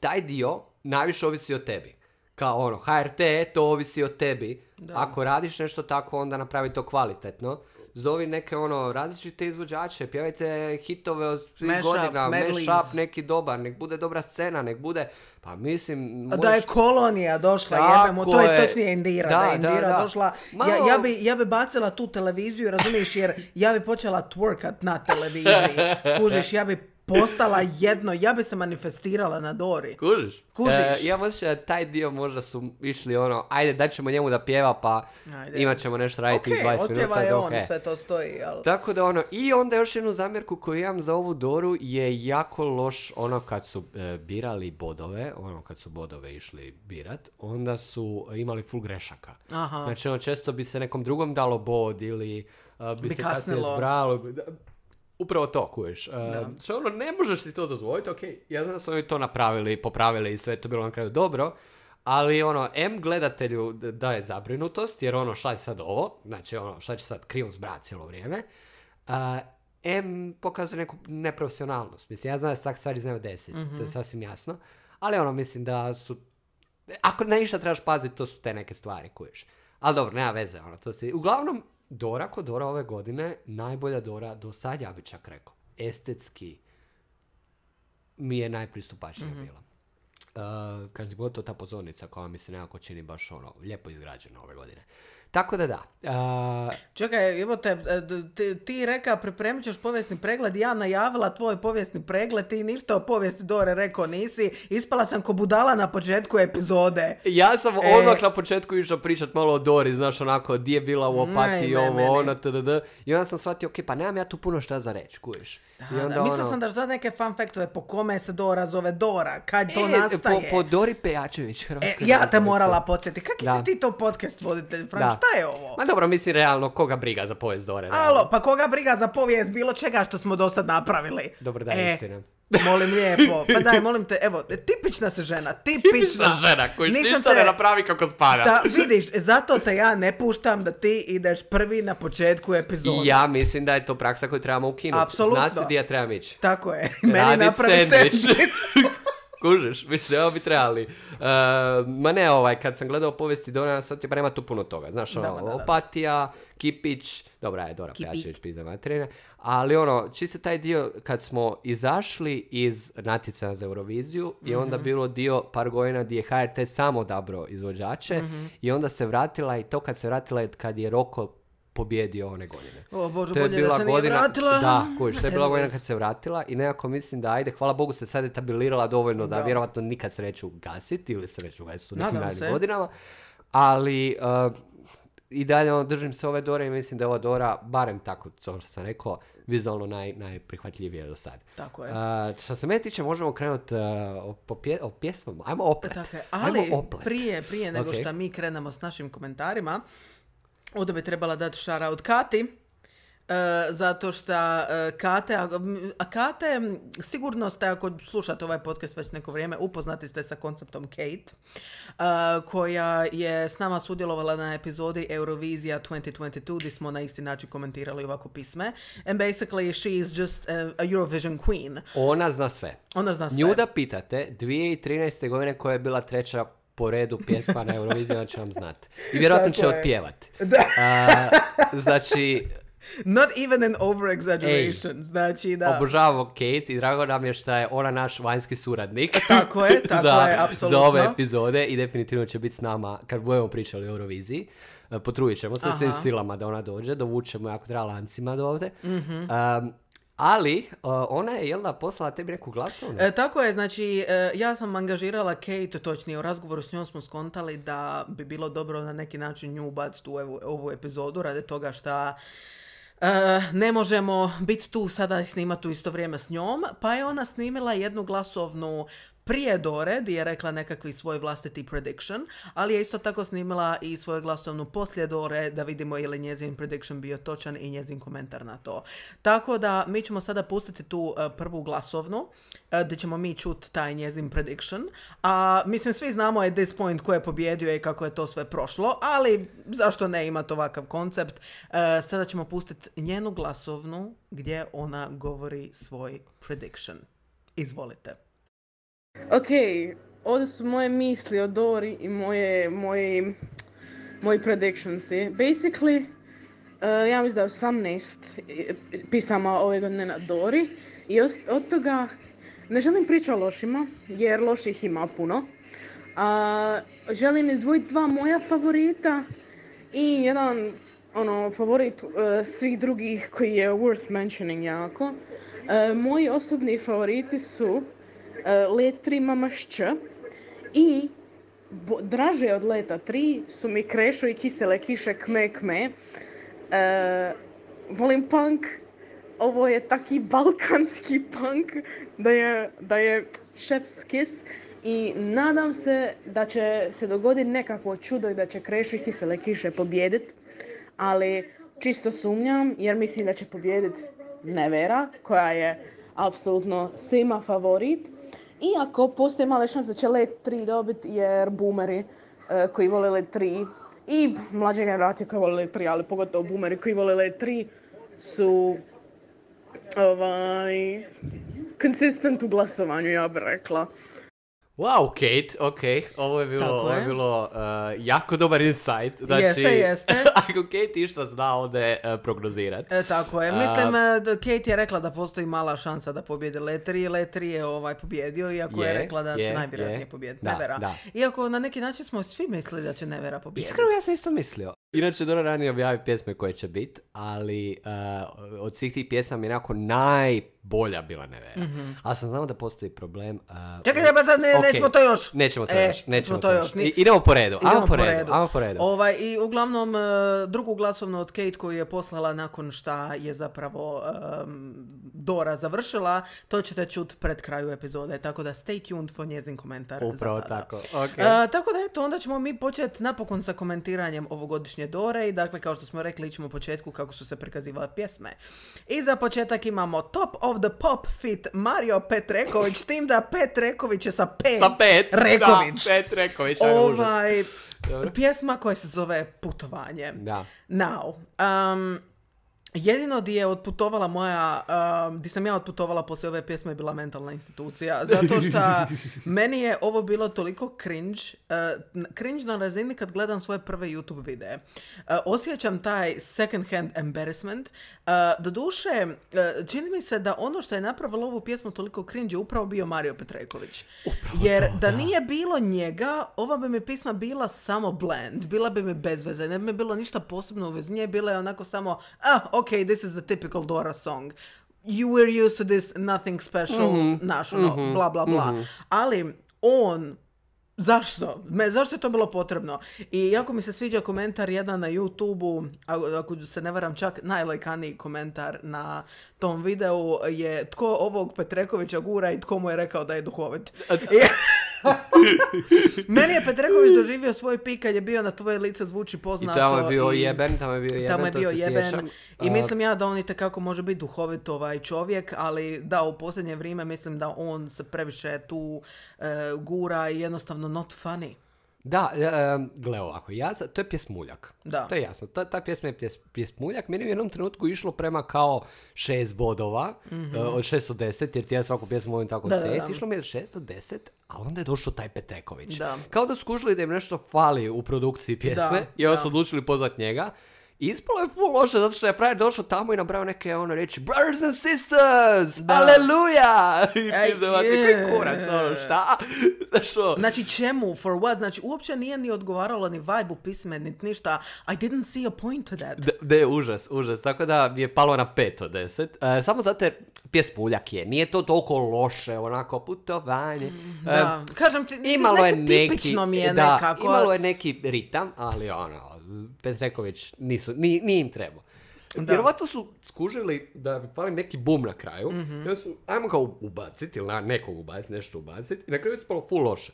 taj dio najviše ovisi o tebi. Kao ono, H R T, to ovisi o tebi. Da. Ako radiš nešto tako, onda napravi to kvalitetno. Zovi neke ono različite izvođače, pjevajte hitove od svih Mashup, godina, medleys. mashup neki dobar, nek bude dobra scena, nek bude, pa mislim... A da je kolonija došla, jebemo, to je točnije Indira, da, Da, da je Indira da, da. došla, Malo- ja, ja, bi, ja bi bacila tu televiziju, razumiješ, jer ja bi počela twerkat na televiziji, kužiš, ja bi postala jedno, ja bi se manifestirala na Dori. Kužiš? Kužiš. E, ja mislim da taj dio možda su išli ono, ajde daćemo njemu da pjeva pa Ajde. imat ćemo nešto raditi Ok, dvadeset minuta. otpjeva je da, on, ok. sve to stoji, ali... Tako da ono, i onda još jednu zamjerku koju imam za ovu Doru je jako loš ono kad su e, birali bodove, ono kad su bodove išli birat, onda su imali full grešaka. Aha. Znači ono, često bi se nekom drugom dalo bod ili uh, bi, Bi se kasnije kasnilo. zbralo. Da, upravo to, kuješ. Uh, Da. što ono, ne možeš ti to dozvoliti, ok, ja znam da su oni to napravili, popravili i sve je to bilo na kraju dobro, ali ono, M gledatelju d- daje zabrinutost, jer ono, šta je sad ovo, znači ono, šta će sad krivo zbrati cijelo vrijeme, uh, M pokazuje neku neprofesionalnost. Mislim, ja znam da se tak stvari znaju desiti, Mhm. to je sasvim jasno, ali ono, mislim da su, ako na išta trebaš paziti, to su te neke stvari, kuješ. Ali dobro, nema veze, ono, to se, uglavnom, Dora kod Dora ove godine, najbolja Dora do sad, ja bi čak rekao, estetski mi je najpristupačnija Mhm. bila. Uh, kad je to ta pozornica koja mi se nekako čini baš ono, lijepo izgrađena ove godine. Tako da da. Uh, Čekaj, evo te, ti, ti reka pripremit ćeš povijesni pregled, ja najavila tvoj povijesni pregled, ti ništa o povijesti Dore rekao nisi, ispala sam ko budala na početku epizode. ja sam E. odmah na početku išao pričat malo o Dori, znaš onako, di je bila u Opatiji, Ne, ne, ovo, meni. ono, tdd. I onda sam shvatio, ok, pa nemam ja tu puno šta za reći, kuješ. I Da, onda da, mislila ono- sam da ćeš dati neke fun faktove po kome se Dora zove Dora, kad to E, nastaje. Po, po Dori Pejačević, E, hrvatska ja te glazbenica. morala podsjetiti, kakvi Da. si ti to podcast voditelj, Frank, Da. šta je ovo? Ma dobro, mislim, realno, koga briga za povijest Dore? realno? Alo, pa koga briga za povijest bilo čega što smo do sad napravili? Dobro, da, E, istina. molim lijepo, pa daj, molim te, evo, tipična se žena, tipična. Tipična žena koji Nisam ništa te- ne napravi kako spada. Da, vidiš, zato te ja ne puštam da ti ideš prvi na početku epizode. I ja mislim da je to praksa koju trebamo ukinuti. Apsolutno. Zna se di ja trebam ići. Tako je, meni Radit napravi sendvič. sendvič. Kužiš, mislim, evo bi trebali. Uh, ma ne, ovaj, kad sam gledao povijesti Dora, sad ti pa nema tu puno toga. Znaš, ono, Da, da, da. Opatija, Kipić, dobra je Dora Kipik. Pejačević, pizda materine, ali ono, čisto taj dio kad smo izašli iz natjecanja za Euroviziju i onda Mhm. bilo dio par godina gdje je H R T samo odabrao izvođače Mhm. i onda se vratila i to kad se vratila je kad je Roko pobjedio one godine. O Bože, To je bolje da bila se nije godina, vratila. da, kojiš, to je bila Anyways. godina kad se vratila i nekako mislim da ajde, hvala Bogu se sad etablirala dovoljno da, Da. vjerojatno nikad se neće ugasiti ili se već ugasiti u nekim Nadam narednim se. godinama, ali uh, i dalje ono, držim se ove Dore i mislim da je ova Dora, barem tako to što sam rekao, vizualno naj, najprihvatljivije do sad. Tako je. Uh, što se mene tiče, možemo krenuti uh, o, po pje, o pjesmama. Ajmo oplet. Tako je, Ajmo ali oplet. prije, prije nego Ok. što mi krenemo s našim komentarima, ovdje bi trebala dati shout-out Kati, Uh, zato što uh, Kate, a, a Kate, sigurno ste, ako slušate ovaj podcast već neko vrijeme, upoznati ste sa konceptom Kate, uh, koja je s nama sudjelovala na epizodi Eurovizija dvije tisuće dvadeset dva, gdje smo na isti način komentirali ovako pisme. And basically, she is just a, a Eurovision queen. Ona zna sve. Ona zna sve. Nju da pitate, dvije tisuće trinaeste. godine koja je bila treća po redu pjesma na Euroviziji, ona će vam znati. I vjerojatno će otpjevati. Uh, znači... Not even an over-exaggeration. Ej, znači da... Obožavamo Kate i drago nam je što je ona naš vanjski suradnik. Tako je, tako za, je, apsolutno. Za ove epizode i definitivno će biti s nama kad budemo pričali o Euroviziji. Uh, potrudit ćemo se svim silama da ona dođe, dovučemo jako treba lancima do ovdje. Mm-hmm. Um, Ali, uh, ona je, jel da, poslala tebi neku glasovnu? E, tako je, znači, e, ja sam angažirala Kate, točnije, u razgovoru s njom smo skontali da bi bilo dobro na neki način nju ubaciti u ovu, ovu epizodu, radi toga što Uh, ne možemo biti tu sada i snimati u isto vrijeme s njom, pa je ona snimila jednu glasovnu prije Dore, gdje je rekla nekakvi svoj vlastiti prediction, ali je isto tako snimila i svoju glasovnu poslije Dore, da vidimo je li njezin prediction bio točan i njezin komentar na to. Tako da mi ćemo sada pustiti tu uh, prvu glasovnu, uh, gdje ćemo mi čuti taj njezin prediction, a mislim svi znamo at this point ko je pobjedio i kako je to sve prošlo, ali zašto ne imati ovakav koncept. Uh, sada ćemo pustiti njenu glasovnu gdje ona govori svoj prediction. Izvolite. Ok, ovdje su moje misli o Dori i moje, moji, moji predictionsi. Basically, uh, ja mislim da je osamnaest pisama ove godine na Dori i od, od toga ne želim pričati o lošima, jer loših ima puno. Uh, želim izdvojiti dva moja favorita i jedan ono, favorit uh, svih drugih koji je worth mentioning jako. Uh, moji osobni favoriti su Uh, Let tri Mama Šć i bo, draže od Leta tri su mi Krešo i Kisele kiše Kme Kme. Uh, volim punk, ovo je taki balkanski punk da je, da je chef's kiss i nadam se da će se dogoditi nekakvo čudo i da će Krešo i Kisele kiše pobijediti, ali čisto sumnjam jer mislim da će pobijediti Nevera koja je apsolutno svima favorit. Iako postoji male šanse da će Let tri dobiti jer boomeri uh, koji vole Let tri i mlađe generacije koje vole Let tri, ali pogotovo boomeri koji vole Let tri su ovaj, consistent u glasovanju, ja bih rekla. Wow, Kate, ok, ovo je bilo, ovo je bilo uh, jako dobar insight. Znači, jeste, jeste. Ako Kate išta zna ovdje uh, prognozirati. E, tako je. Mislim, uh, Kate je rekla da postoji mala šansa da pobjede Let tri. Let tri je ovaj pobjedio, iako je, je rekla da će je, najvjerojatnije pobijediti Nevera. Da. Iako na neki način smo svi mislili da će Nevera pobijediti. Iskreno, ja sam isto mislio. Inače, Dora ranije objavi pjesme koje će biti, ali uh, od svih tih pjesama je nekako najbolja bila Nevera. Mm-hmm. Ali sam znao da postoji problem. Uh, Čekaj, ne, ne, okay. nećemo to još. Nećemo to e, još. Nećemo to još. Ni... Idemo po redu. Idemo Ajmo po redu. redu. Ajmo po redu. Ovaj, i uglavnom, uh, drugu glasovnu od Kate koju je poslala nakon šta je zapravo um, Dora završila, to ćete čuti pred kraju epizode. Tako da stay tuned for njezin komentar. Upravo tako. Okay. Uh, tako da eto, onda ćemo mi početi napokon sa komentiranjem ovogodišnje Dore i dakle, kao što smo rekli, ićemo u početku kako su se prikazivale pjesme. I za početak imamo Top of the Pop feat. Mario Petreković, s tim da Petreković je sa pet. Sa pet, Reković. Da, Pet Reković, ovaj, pjesma koja se zove Putovanje. Da. Now, um, jedino di je otputovala moja, uh, di sam ja otputovala poslije ove pjesme je bila mentalna institucija, zato što meni je ovo bilo toliko cringe, uh, cringe na razini kad gledam svoje prve YouTube videe. Uh, osjećam taj second hand embarrassment. Uh, doduše, uh, čini mi se da ono što je napravilo ovu pjesmu toliko cringe je upravo bio Mario Petreković. Upravo Jer to, da da. nije bilo njega, ova bi mi pisma bila samo bland, bila bi mi bez veze, ne bi mi bilo ništa posebno u vezi nje, bila je onako samo, ah, ok, this is the typical Dora song. You were used to this, nothing special, mm-hmm. naš, ono, mm-hmm. bla, bla, bla. Mm-hmm. Ali on, zašto? Me, zašto je to bilo potrebno? I jako mi se sviđa komentar jedan na YouTube-u, ako se ne varam čak najlajkaniji komentar na tom videu je tko ovog Petrekovića gura i tko mu je rekao da je duhovit. Meni je Petreković doživio svoj pik kad je bio Na tvoje lice zvuči poznato. I tamo je bio i, jeben, tamo je bio jeben, tamo je to bio se jeben. sjećam. I A, mislim ja da on itekako može biti duhovit ovaj čovjek, ali da, u posljednje vrijeme mislim da on se previše tu e, gura i jednostavno not funny. Da, e, gle ovako, ja, to je pjesmuljak. Da. To je jasno, ta, ta pjesma je pjes, pjesmuljak. Meni u jednom trenutku išlo prema kao šest bodova, mm-hmm. uh, od šest od deset, jer ti ja svaku pjesmu volim tako da, cijeti. da, da. Išlo mi je šest od deset, a onda je došao taj Petreković. Da. Kao da skužili da im nešto fali u produkciji pjesme, Da, i onda da. su odlučili pozvat njega. I ispalo je full loše, zato što je frajer došao tamo i nabrao neke ono reći brothers and sisters, Da. aleluja! I Ej, ti zavati, je. koji kurac, ono, šta? Što? Znači čemu, for what? Znači uopće nije ni odgovaralo ni vibe u pisme, ni ništa. I didn't see a point to that. Da, da je užas, užas. Tako da mi je palo na pet od deset. E, samo zato jer pjesmuljak je. Nije to toliko loše, onako putovanje. E, Da, kažem ti, imalo je neko neki, tipično mi je da, nekako. imalo je neki ritam, ali ono, Petreković nisu, ni, nije im trebao. Vjerovatno su skužili da bi pali neki bum na kraju. Mm-hmm. I onda su, ajmo ga ubaciti, ili na nekog ubaciti, nešto ubaciti. I na kraju je spalo full loše.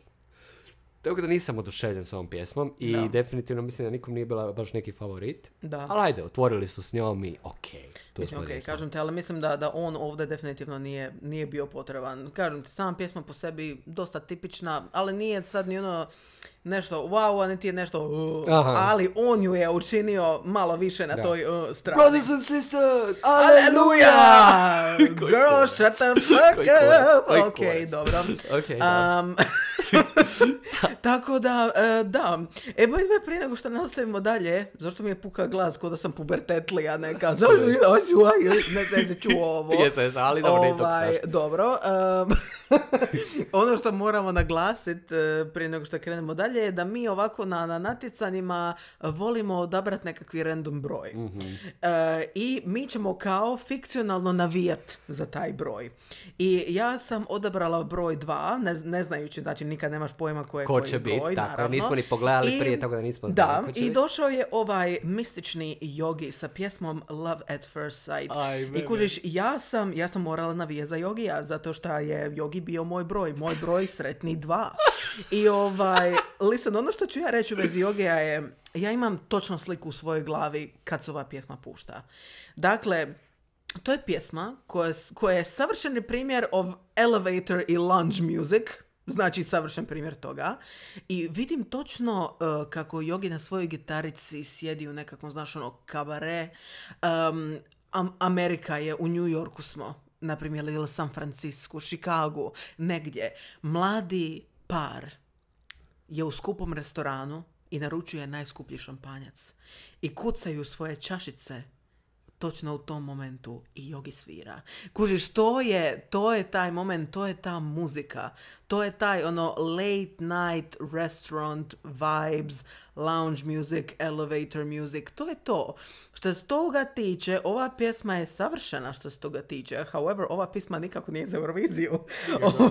Tako da nisam oduševljen s ovom pjesmom i Da. definitivno mislim da nikom nije bila baš neki favorit. Da. Ali ajde, otvorili su s njom i okej. Okay, Mislim, ok, kažem te, ali mislim da, da on ovdje definitivno nije, nije bio potreban. Kažem ti, sama pjesma po sebi dosta tipična, ali nije sad ni ono nešto wow, a niti je nešto uh, ali on ju je učinio malo više na da. toj uh, strani. Brothers and sisters, Aleluja! aleluja! Girl, shut the fuck up! Ok, dobro. Okay, da. Um, tako da, uh, da. E, ba, prije nego što nastavimo dalje, zašto mi je puka glas ko da sam pubertetlija neka, zašto ne znam se čuo ovo. Jesam, jesam, ali dobro, nije to ovaj, sad. dobro. Um, ono što moramo naglasiti uh, prije nego što krenemo dalje je da mi ovako na, na natjecanjima volimo odabrati nekakvi random broj. Mm-hmm. Uh, I mi ćemo kao fikcionalno navijat za taj broj. I ja sam odabrala broj dva, ne, ne znajući, znači nikad nemaš pojma ko je ko koji će broj, biti, tako, naravno. nismo ni pogledali I, prije, tako da nismo da, znali ko će i biti. došao je ovaj mistični Yogi sa pjesmom Love at First Sight. Aj, I kužiš, ja sam, ja sam morala navijati za Yogija, zato što je Yogi bio moj broj, moj broj sretni dva. I ovaj, listen, ono što ću ja reći u vezi Yogija je, ja imam točno sliku u svojoj glavi kad se ova pjesma pušta. Dakle, to je pjesma koja, koja je savršeni primjer of elevator i lounge music. Znači, savršen primjer toga. I vidim točno uh, kako Yogi na svojoj gitarici sjedi u nekakvom, znaš, ono, kabare. Um, Am- Amerika je, u New Yorku smo, na primjer, ili San Francisco, Chicago, negdje. Mladi par je u skupom restoranu i naručuje najskuplji šampanjac. I kucaju svoje čašice točno u tom momentu i Yogi svira. Kužiš, to je, to je taj moment, to je ta muzika, to je taj ono late night restaurant vibes, lounge music, elevator music, to je to. Što se toga tiče, ova pjesma je savršena što se toga tiče. However, ova pjesma nikako nije za Euroviziju.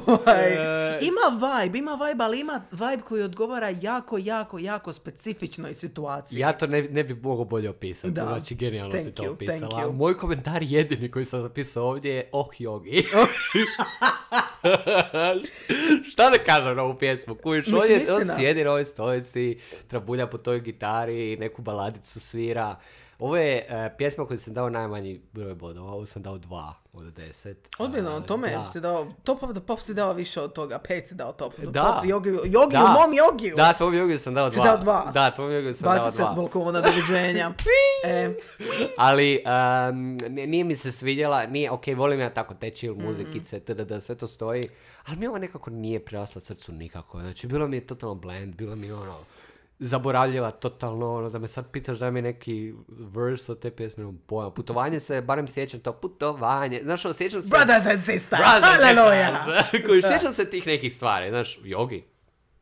ovaj, ima vibe, ima vibe, ali ima vibe koji odgovara jako, jako, jako specifičnoj situaciji. Ja to ne, ne bi mogao bolje opisati. Da. Znači, genijalno Thank si to you, opisala. thank you. Moj komentar jedini koji sam zapisao ovdje je oh Yogi. Šta da kažem na ovu pjesmu? Kujiš, on, Mislim, je, on istina. sjedi na ovoj stolici, trabulja po toj gitari, neku baladicu svira. Ovo je uh, pjesma koju sam dao najmanji broj bodova, ovo sam dao dva od deset. Odbilo, Uh, tome da. si dao, Top of the Pop si dao više od toga, pet si dao Top of the Da. Pop, Yogi, Yogi Da. u mom Yogiju. Da, tvom Yogiju sam dao Si dva. dao dva? Da, tvom Yogiju sam dao Baci se dva. s balkona, doviđenja. e, Ali um, nije mi se svidjela, nije, ok, volim ja tako te chill muzikice, tdd, sve to stoji, ali mi ovo nekako nije prirasla srcu nikako. Znači, bilo mi je totalno blend, bilo mi ono, zaboravljiva totalno, ono, da me sad pitaš da mi neki verse od te pjesme, nemam pojma. Putovanje se, barem sjećam to, putovanje, znaš, ono, sjećam se... Brothers and sisters, Brothers and hallelujah. sisters. Koji sjećam se tih nekih stvari, znaš, Yogi.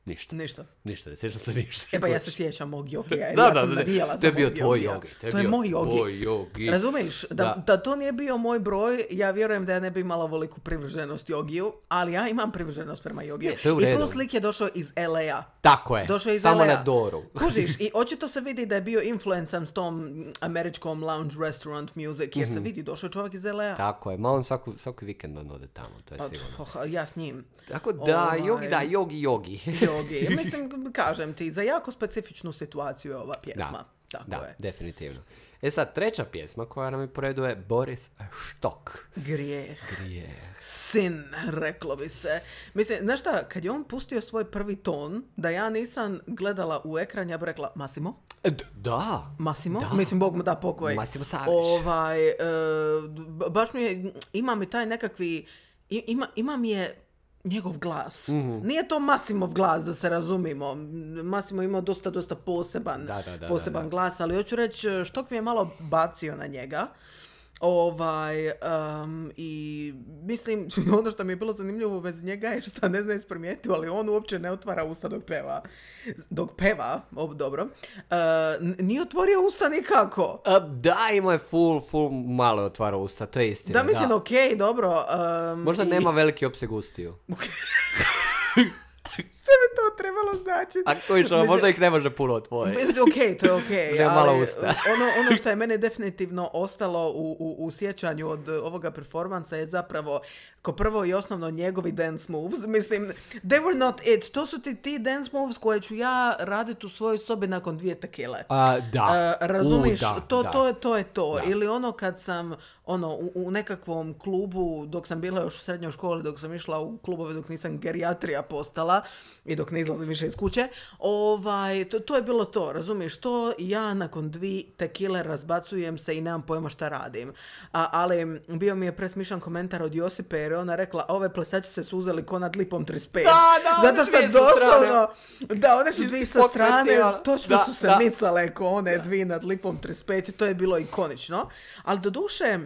Ništa. Ništa. Ništa, ne sjećam se ništa. E pa ja se sjećam mog jogija. Da, ja da, sam da, navijala to je za bio mog tvoj jogija. jogi. To je moj jogi. Tvoj jogi. Razumiješ? Da, Da. da to nije bio moj broj, ja vjerujem da ja ne bi imala veliku privrženost jogiju, ali ja imam privrženost prema jogiju. Ne, to je u I redu. plus lik je došao iz el a. Tako je, Došao iz samo el a. na Doru. Kužiš, i očito se vidi da je bio influencan s tom američkom lounge restaurant music, jer se vidi, došao je čovjek iz el a. Tako je, ma on svaku, svaki vikend on ode tamo, to je Pa, sigurno. oh, ja s njim. Tako da, Ovaj. jogi, da, jogi, jogi. Jogi. Mislim, kažem ti, za jako specifičnu situaciju je ova pjesma. Da, Tako da, je. definitivno. E sad, treća pjesma koja nam je po redu je Boris Štok. Grijeh. Grijeh. Sin, reklo bi se. Mislim, znaš šta, kad je on pustio svoj prvi ton, da ja nisam gledala u ekran, ja bi rekla, Massimo? E, d- Da. Massimo? Da. Mislim, Bog mu da pokoj. Massimo Savić. Ovaj, e, b- baš mi je, ima mi taj nekakvi, i- ima, ima mi je njegov glas. Mhm. Nije to Massimov glas, da se razumimo. Massimo imao dosta, dosta poseban, Da, da, da, poseban da, da. glas, ali hoću reći, Štok mi je malo bacio na njega. Ovaj, um, i mislim, ono što mi je bilo zanimljivo bez njega je što ne znam jesi primijetio, ali on uopće ne otvara usta dok peva. Dok peva, ob, dobro, uh, n- nije otvorio usta nikako. A, da, imao je full, full malo je otvarao usta, to je istina. Da, mislim, okej, dobro. Um, Možda i- nema veliki opseg ustiju. Što bi to trebalo značiti? A koji što, Mislim- možda ih ne može puno otvoriti. Mislim, okej, to je okej, Nema ali malo usta. ono, ono što je mene definitivno ostalo u, u, u sjećanju od ovoga performansa je zapravo ko prvo i osnovno njegovi dance moves. Mislim, they were not it. To su ti ti dance moves koje ću ja raditi u svojoj sobi nakon dvije tekile. A, da. Uh, razumiješ, U, da, to, da. to, je, to je to. Da. Ili ono kad sam ono, u, u nekakvom klubu, dok sam bila još u srednjoj školi, dok sam išla u klubove, dok nisam gerijatrija postala i dok ne izlazim više iz kuće, ovaj, to, to je bilo to, razumiješ, to ja nakon dvi tekile razbacujem se i nemam pojma šta radim. A, ali bio mi je presmišan komentar od Josipe, jer je ona rekla, ove plesačice su uzeli ko nad lipom trideset pet. Da, da, one Zato što dvije sa doslovno, da, one su dvije sa strane, Pokretirala. točno Da, su se da. micale ko one dvije nad lipom trideset pet i to je bilo ikonično. Ali do duše,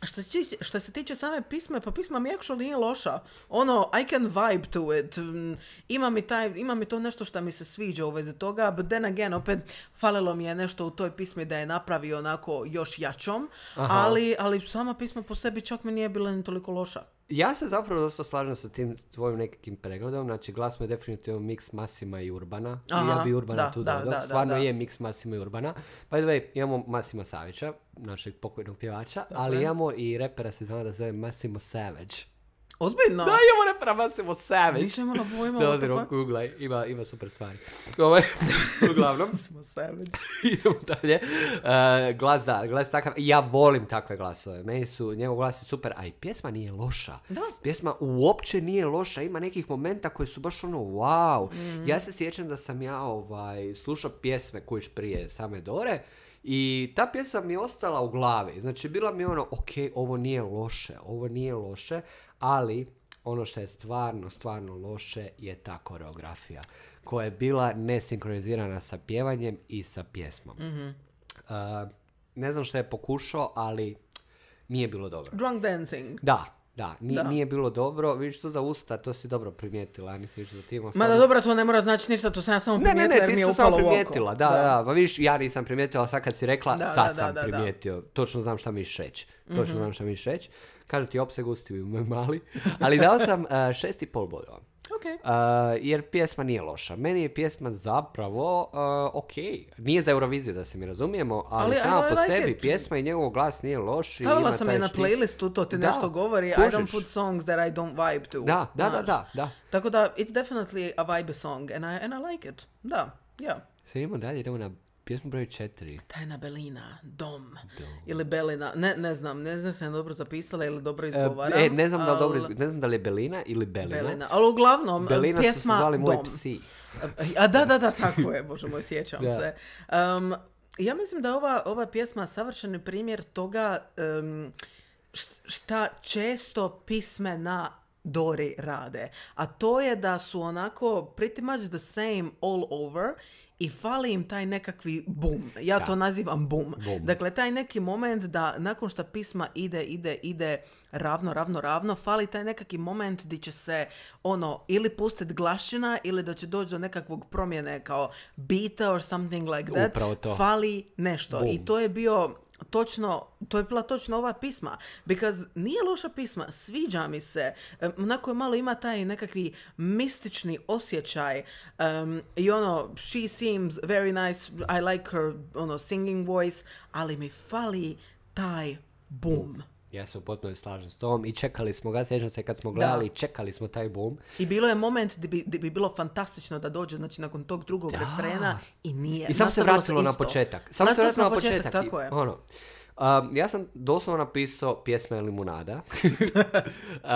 što se, tiče, što se tiče same pisme, pa pisma mi actually nije loša. Ono, I can vibe to it. Mm, Ima mi, taj, ima mi to nešto što mi se sviđa u vezi toga, but then again, opet, falilo mi je nešto u toj pismi da je napravio onako još jačom, ali, ali sama pisma po sebi čak mi nije bila ni toliko loša. Ja se zapravo dosta slažem sa tim tvojim nekakvim pregledom, znači glas mu je definitivno mix Massima i Urbana. I Aha, ja bi Urbana da, tu da, dodao. da, da, Stvarno da. je mix Massima i Urbana. By the way, imamo Massima Savića, našeg pokojnog pjevača, ali je. imamo i repera se zna da zove Massimo Savage. Ozbiljno? Da, imamo repera Massimo Savage. Nisam imala pojma, Da, what the ozirno, fuck? googlaj, ima, ima super stvari. Ovaj, uglavnom, Smo savage. idemo dalje. Uh, glas, da, glas takav. Ja volim takve glasove. Meni su, njegov glas je super, a i pjesma nije loša. Da. Pjesma uopće nije loša, ima nekih momenta koji su baš ono wow. Mhm. Ja se sjećam da sam ja ovaj, slušao pjesme kuć prije same Dore i ta pjesma mi je ostala u glavi. Znači, bila mi ono, ok, ovo nije loše, ovo nije loše, ali ono što je stvarno, stvarno loše je ta koreografija koja je bila nesinkronizirana sa pjevanjem i sa pjesmom. Mhm. Uh, ne znam što je pokušao, ali nije bilo dobro. Drunk dancing. Da, da, ni- Da. nije bilo dobro. Vidiš to za usta, to si dobro primijetila. Ja mislim da ti imao Ma da dobro, to ne mora znači ništa, to sam ja samo Ne, ne, primijetila ne, jer ti mi je si to upalo samo u oko. primijetila. Da, da, da. Pa vidiš, ja nisam primijetila, a sad kad si rekla, Da, sad da, sam da, da, da. primijetio. Točno znam šta misliš reći. Točno Mhm. znam šta misliš reći. Kažu ti opseg ustiju moj mali. Ali dao sam uh, šest i pol bodova. Ok. Uh, jer pjesma nije loša. Meni je pjesma zapravo uh, ok. Nije za Euroviziju da se mi razumijemo, ali, Ali I- sama I po like sebi it. pjesma i njegov glas nije loš. i Stavila ima sam taj je na štik. playlistu, to ti Da, nešto govori. I kužiš. don't put songs that I don't vibe to. Da, da, da, znaš. da, da. Tako da, it's definitely a vibe song and I, and I like it. Da, ja. Sad idemo dalje, idemo na pjesmu broj četiri. Tajna Belina, Dom. Ili Belina, ne, ne znam, ne znam se dobro zapisala ili dobro E, izgovaram. e, ne znam da li dobro al- izg- ne znam da li je Belina ili Belina. Belina. Ali uglavnom, Belina su se pjesma zvali moji Dom. psi. A da, da, da, tako je, bože moj, sjećam Da. se. Um, ja mislim da je ova, ova pjesma savršeni primjer toga um, š- šta često pismena Dori rade. A to je da su onako pretty much the same all over i fali im taj nekakvi boom. Ja Da. to nazivam boom. Boom. Dakle, taj neki moment da nakon što pisma ide, ide, ide ravno, ravno, ravno, fali taj nekakvi moment gdje će se ono ili pustiti glašina ili da će doći do nekakvog promjene kao beata or something like that. Upravo to. Fali nešto. Boom. I to je bio točno, to je bila točno ova pisma. Because nije loša pisma, sviđa mi se. Um, onako je malo ima taj nekakvi mistični osjećaj. Um, I ono, she seems very nice, I like her ono, singing voice, ali mi fali taj boom. Ja se u potpuno slažem s tom i čekali smo ga, sjećam se kad smo gledali, čekali smo taj boom. I bilo je moment gdje bi, gdje bi bilo fantastično da dođe, znači nakon tog drugog Da. refrena i nije. I samo se Nastavilo vratilo na isto. početak. Samo se Vratilo vratilo na početak, početak. tako I, je. ono, um, ja sam doslovno napisao pjesme Limunada. uh,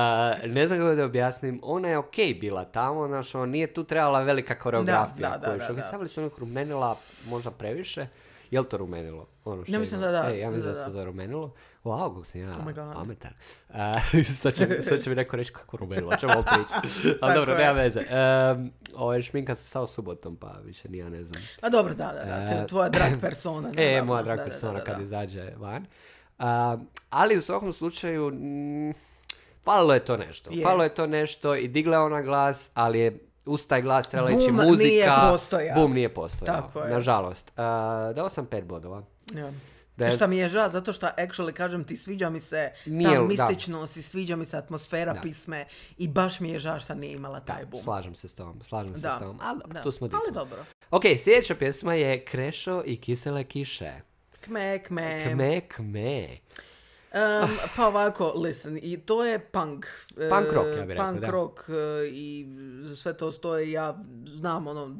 ne znam kako da objasnim. Ona je okej bila tamo, znaš, ono, nije tu trebala velika koreografija. Da, da, koju- da, što da, ga da. stavili su onih rumenila možda previše. Je li to rumenilo? Ono što Ja je mislim imalo? da da. E, ja mislim da, Da, se da. to rumenilo. Wow, kako sam ja Oh my God. pametan. Uh, sad, će, sad će mi neko reći kako rumenilo, ćemo pričati. Ali Tako dobro, je. nema veze. Um, ovo šminka se samo subotom, pa više ni ja ne znam. A dobro, da, da, da. E, Tvoja drag persona. E, naravno. moja drag Da, da, persona da, da, kad da. izađe van. Uh, ali u svakom slučaju, mm, falilo je to nešto. Je. Falilo je to nešto i digla je ona glas, ali je uz taj glas trebala ići Boom muzika. nije postojao. Boom nije postojao. Tako je. Nažalost. Uh, dao sam pet bodova. Ja. Da je- Šta mi je žao, zato što actually kažem ti, sviđa mi se Nije- ta da. mističnost i sviđa mi se atmosfera Da. pisme i baš mi je žao što nije imala taj Da, boom. slažem se s tom, slažem se Da. s tom. Ali dobro, Da. tu smo di Ali smo. dobro. Ok, sljedeća pjesma je Krešo i kisele kiše. Kme, kme. Kme, kme. Um, pa ovako, listen, i to je punk. e, Punk rock, ja bih rekao, Punk da. rock e, i sve to stoji, ja znam ono,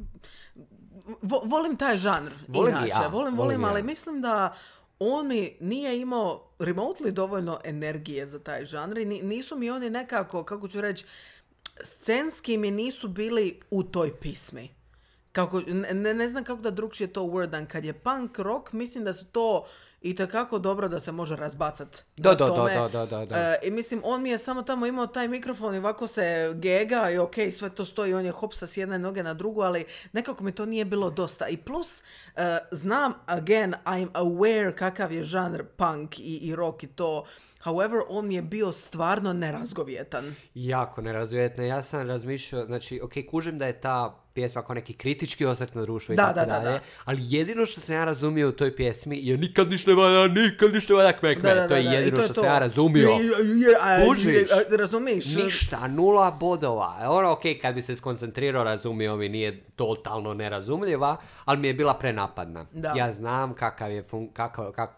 vo- volim taj žanr, Volim i inače, ja, volim, volim volim, i ja. ali mislim da on mi nije imao remotely dovoljno energije za taj žanr i ni- nisu mi oni nekako, kako ću reći, scenski mi nisu bili u toj pismi. Kako, ne, ne znam kako da drugčije to wordan. Kad je punk rock, mislim da su to i takako dobro da se može razbacat. Da, na da, da, tome. da, da, da, da. E, I mislim, on mi je samo tamo imao taj mikrofon i ovako se gega i ok, sve to stoji, on je hopsa s jedne noge na drugu, ali nekako mi to nije bilo dosta. I plus, e, znam, again, I'm aware kakav je žanr punk i, i rock i to. However, on mi je bio stvarno nerazgovjetan. Jako nerazvjetno. Ja sam razmišljao, znači, ok, kužim da je ta pjesma kao neki kritički osvrt na društvo i Da, tako da, da, dalje, da. ali jedino što sam ja razumio u toj pjesmi je nikad ništa valja, nikad ništa valja kme, kme. Da, da, to je da, da, i jedino to je što to. sam ja razumio. Je, je, je, a, Kužiš? je, a, Razumiš? Ništa, nula bodova. Ono, ok, kad bi se skoncentrirao, razumio mi, nije totalno nerazumljiva, ali mi je bila prenapadna. Da. Ja znam kakav je, fun, kakav, kak,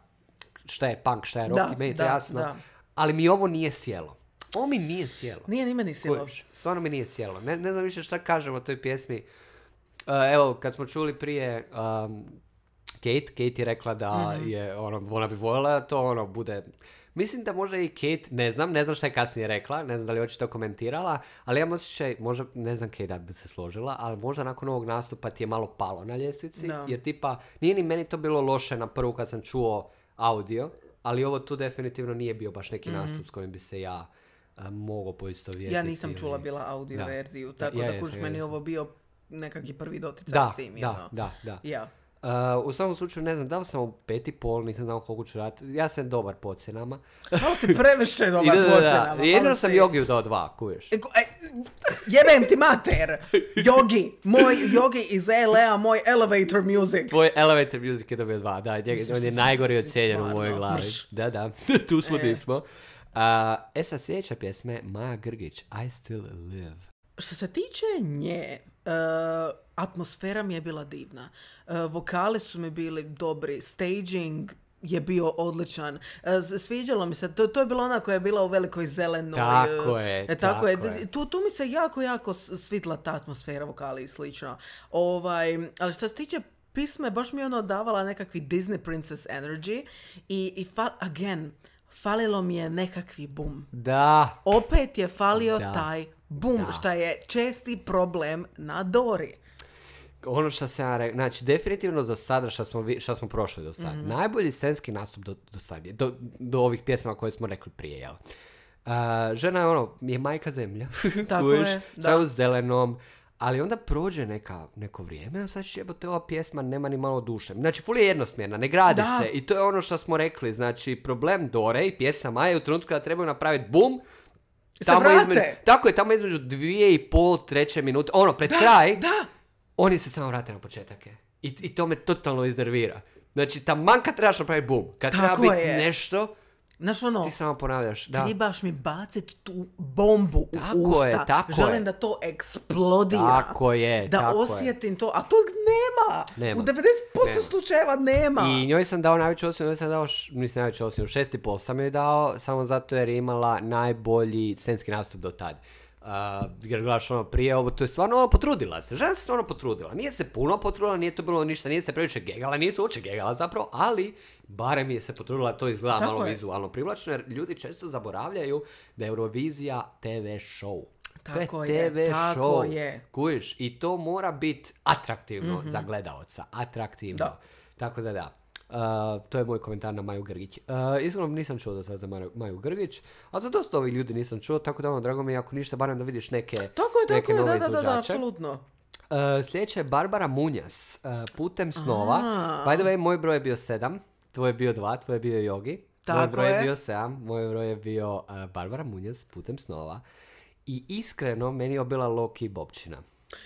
šta je punk, šta je rock, Da, i meni je to da, jasno. da. Ali mi ovo nije sjelo. Ovo mi nije sjelo. Nije ni meni silo. Kužiš, stvarno mi nije sjelo. Ne, ne znam više šta kažem o toj pjesmi. Uh, evo, kad smo čuli prije um, Kate, Kate je rekla da Mhm. je, ono, ona bi voljela da to, ono, bude... Mislim da možda i Kate, ne znam, ne znam šta je kasnije rekla, ne znam da li je očito komentirala, ali ja osjećaj, možda, ne znam Kate da bi se složila, ali možda nakon ovog nastupa ti je malo palo na ljestvici, Da. jer tipa, nije ni meni to bilo loše na prvu kad sam čuo audio, ali ovo tu definitivno nije bio baš neki nastup s kojim bi se ja a, mogao poistovjetiti. Ja nisam ili- čula bila audio Da. verziju, Da, tako ja da jesam, kuš ja meni jesam. ovo bio nekakvi prvi doticaj Da, s tim. da, ono. da, da. Ja. Uh, u svakom slučaju, ne znam, dao sam mu pet i pol, nisam znao koliko ću raditi. Ja sam dobar po ocjenama. Malo si previše I dobar da, da, po da, ocenama, jedino malo sam si- Jogiju dao dva, kuješ. E, ko- e, jebem ti mater! Jogi, moj Jogi iz L A, moj elevator music. Tvoj Elevator Music je dobio dva, da, njega- on je najgori ocijenjen u mojoj Stvarno, glavi. mrš. Da, da, tu smo E. di smo. Uh, e sad sljedeća pjesma je Maja Grgić, I Still Live. Što se tiče nje, uh, atmosfera mi je bila divna. Uh, vokali su mi bili dobri, staging je bio odličan. Uh, s- sviđalo mi se, to, to je bila ona koja je bila u velikoj zelenoj. Tako uh, je, e, tako je. je. Tu, tu mi se jako, jako s- svitla ta atmosfera, vokali i slično. Ovaj, ali što se tiče pisme, baš mi je ono davala nekakvi Disney Princess energy i, i fa- again, falilo mi je nekakvi boom. Da, Opet je falio Da. taj boom, Da. šta je česti problem na Dori. ono što sam ja rekao, znači definitivno do sada što smo, vi- što smo prošli do sada, najbolji scenski nastup do, do sad je, do, do ovih pjesama koje smo rekli prije, jel? Uh, žena je ono, je majka zemlja. Tako Kužiš, je, sve da. u zelenom. Ali onda prođe neka, neko vrijeme, a sad će jebote, ova pjesma nema ni malo duše. Znači, ful je jednosmjerna, ne gradi Da. se. I to je ono što smo rekli. Znači, problem Dore i pjesama je u trenutku kada trebaju napraviti bum, Se vrate. između, tako je, tamo između dvije i pol, treće minute, ono, pred kraj, Da, oni se samo vrate na početak. je. I, I to me totalno iznervira. Znači, taman kad trebaš napraviti bum, kad Tako treba biti je. nešto, znaš ono, ti samo ponavljaš. Da. trebaš mi bacit tu bombu Tako u usta. je, tako Želim je. da to eksplodira. Tako je, Da tako je. osjetim to, a to nema. Nema. U devedeset posto Nema. slučajeva nema. I njoj sam dao najveću ocjenu, njoj sam dao, š- mislim najveću ocjenu, šest i pol sam joj dao, samo zato jer je imala najbolji scenski nastup do tad. Uh, jer gledaš ono prije ovo, to je stvarno ono, potrudila se, žena se stvarno potrudila, nije se puno potrudila, nije to bilo ništa, nije se previše gegala, nije se uopće gegala zapravo, ali barem je se potrudila, to izgleda Tako malo je. vizualno privlačno, jer ljudi često zaboravljaju da je Eurovizija te ve show. Tako to je, je te ve tako show. je. Kužiš, i to mora biti atraktivno za gledaoca, atraktivno. Da. Tako da da. Uh, to je moj komentar na Maju Grgić. Uh, iskreno nisam čuo do sad za Maju, Maju Grgić, a za dosta ovih ljudi nisam čuo, tako da ono, drago mi je ako ništa, barem da vidiš neke, Tako je, neke tako je, nove da, da, da, da, izvođače. apsolutno. Uh, sljedeća je Barbara Munjas, uh, Putem snova. A. By the way, moj broj je bio sedam, tvoj je bio dva, tvoj je bio Jogi. Moj Tako broj je je. bio sedam, moj broj je bio uh, Barbara Munjas, Putem snova. I iskreno, meni je bila low-key bobčina.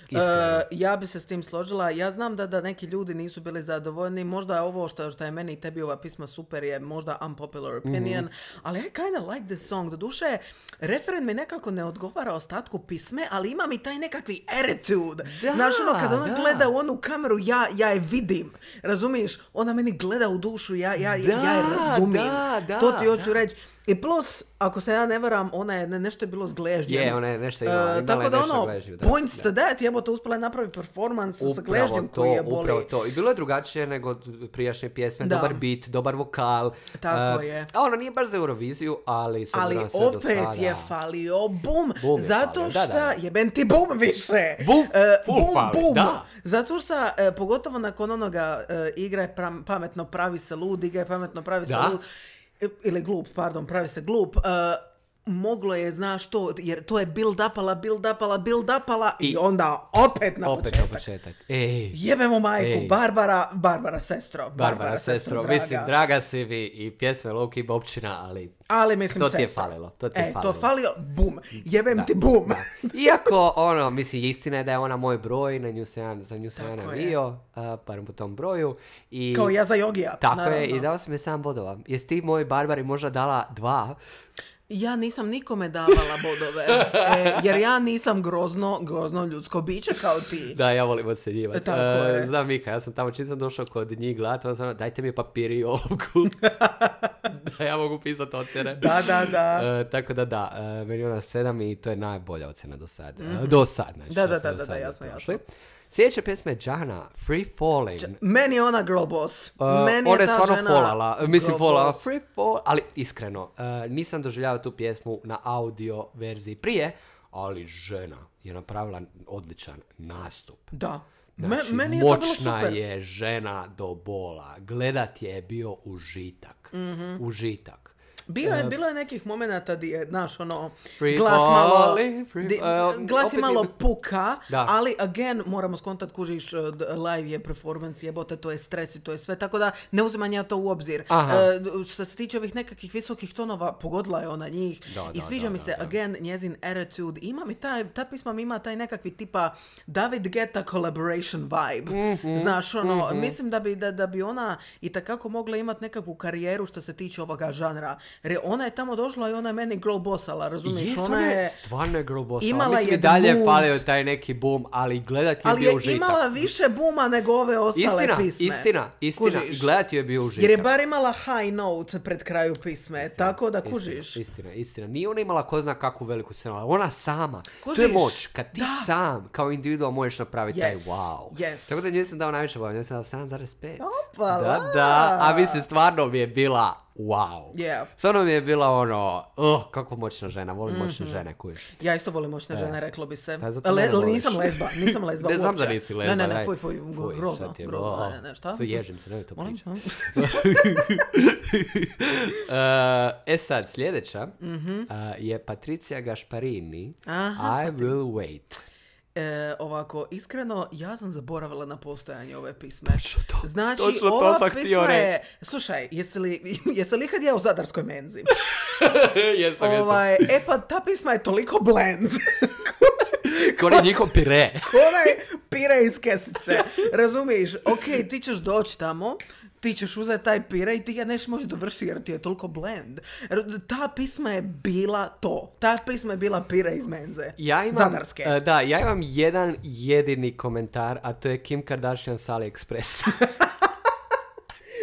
Iskreno. E, ja bi se s tim složila. Ja znam da, da neki ljudi nisu bili zadovoljni. Možda je ovo što, što je meni i tebi ova pisma super je možda unpopular opinion, Mhm. ali I kinda like this song. Doduše, referen mi nekako ne odgovara ostatku pisme, ali ima mi taj nekakvi attitude. Da, Znaš, ono, kad ona da. gleda u onu kameru, ja, ja je vidim. Razumiješ? Ona meni gleda u dušu, ja, ja, Da, ja je razumijem. da, da, to ti hoću da. reći. I plus, ako se ja ne varam, ona je ne- nešto je bilo s gležnjem. Je, ona je nešto E, imala, imala tako je da nešto ono, gležnju, da, points da. to that, jebote, uspjela je napraviti performans sa Upravo gležnjem to, koji je boli. upravo to. I bilo je drugačije nego prijašnje pjesme, Da. dobar beat, dobar vokal. Tako E, je. A ono nije baš za Euroviziju, ali s Ali obzirom na sve do opet sada- je falio bum, Bum je zato falio, da, što da, da. jebem ti bum više. Bum, E, full bum, fali, bum. da. Zato što, e, pogotovo nakon onoga e, igraj pram- pametno, pravi se lud, igraj pametno, pravi se Da. lud. E, ili glup, pardon, pravi se glup. E, moglo je, znaš to, jer to je build upala, build upala, build upala i, I- onda opet na Opet početak. na početak. Ej, Jebemo majku, Ej. Barbara, Barbara sestro. Barbara, sestro, draga. mislim, draga si mi i pjesme Loki Bobčina, ali Ali mislim to ti je sestro. falilo, to ti je e, falilo. to falio, bum, jebem Da, ti bum. da. Iako, ono, mislim, istina je da je ona moj broj, na nju se ja, za nju sam ja Tako je. navio, uh, barem po tom broju. I, Kao ja za Jogija. Tako naravno. je, i dao sam je sam bodova. Jesi ti moj Barbari možda dala dva? Ja nisam nikome davala bodove, e, jer ja nisam grozno, grozno ljudsko biće kao ti. Da, ja volim ocjenjivati. Tako E, je. Znam Mika, ja sam tamo čim sam došao kod njih gledati, ono, dajte mi papir i olovku. Da ja mogu pisati ocjene. Da, da, da. E, tako da da, e, meni je ona sedam i to je najbolja ocjena do sad. E, do sad, znači. Da, da, što smo da, do da, sad da, jasno, prošli. Sljedeća pjesma je Jahna, Free Falling. Meni je ona girl boss. Uh, Meni ona je ta stvarno žena folala, mislim girl folala, boss. free fall, ali iskreno, uh, nisam doživljavao tu pjesmu na audio verziji prije, ali žena je napravila odličan nastup. Da. Me- Znači, meni je to bilo moćna super. je žena do bola, gledat je bio užitak, Mhm. užitak. Bilo je, bilo je nekih momenata di je, znaš, ono, Free glas malo, falling, free- di- uh, glas opet je malo je- puka, Da. ali again, moramo skontat, kužiš, uh, d- live je performance, jebote, to je stres i to je sve, tako da ne uzimam ja to u obzir. Aha. Uh, što se tiče ovih nekakvih visokih tonova, pogodila je ona njih Da, i da, sviđa da, mi da, se, da. again, njezin attitude, ima mi taj, ta pisma mi ima taj nekakvi tipa David Guetta collaboration vibe, Mhm, znaš, ono, mislim da bi, da, da bi ona i takako mogla imati nekakvu karijeru što se tiče ovoga žanra, jer je ona je tamo došla i ona je meni girl bossala, razumiješ, Je, ona stvarno je... stvarno je girl boss. imala Mislim je i dalje moves. falio taj neki boom, ali gledat je Ali bio je užitak. imala više buma nego ove ostale Istina, pisme. istina, istina. Kužiš? I gledati je bio užitak. Jer je bar imala high note pred kraju pisme, tako da kužiš. Istina, istina, istina. Nije ona imala ko zna kakvu veliku scenu, ali ona sama. To je Kužiš? moć. Kad ti Da. sam, kao individual, možeš napraviti taj Yes, wow. yes. Tako da njoj sam dao najviše boja, njoj sam dao sedam zarez pet. Opala. Da, da. A mislim, stvarno mi je bila wow. Yeah. Stvarno mi je bila ono, oh, kako moćna žena, volim Mhm. moćne žene, kuj. Ja isto volim moćne žene, reklo bi se. Pa zato Le, mene ali voliš. nisam lezba, nisam lezba Ne znam uopće. da nisi lezba, Ne, ne, ne, daj. fuj, fuj, Fuj, grozno, šta ti je, grozno, oh, ne, ne, ne, šta? Sve ježim se, nemoj to Molim? pričati. Uh, e sad, sljedeća Mhm. uh, je Patricija Gašparini. Aha, I will wait. E, ovako, iskreno, ja sam zaboravila na postojanje ove pisme. Točno to, Znači, točno to ova sam htio pisma je... reći. Slušaj, jesi li, jesi li ikad jeo u Zadarskoj menzi? jesam, jesam. Ovaj, e pa, ta pisma je toliko blend. Ko je njihov pire. Ko onaj pire iz kesice. Razumiješ? Ok, ti ćeš doći tamo, ti ćeš uzeti taj pire i ti ga neš možeš dovršiti jer ti je toliko blend. Ta pisma je bila to. Ta pisma je bila pire iz menze. Ja imam, Zadarske. uh, da, ja imam jedan jedini komentar, a to je Kim Kardashian s AliExpressa.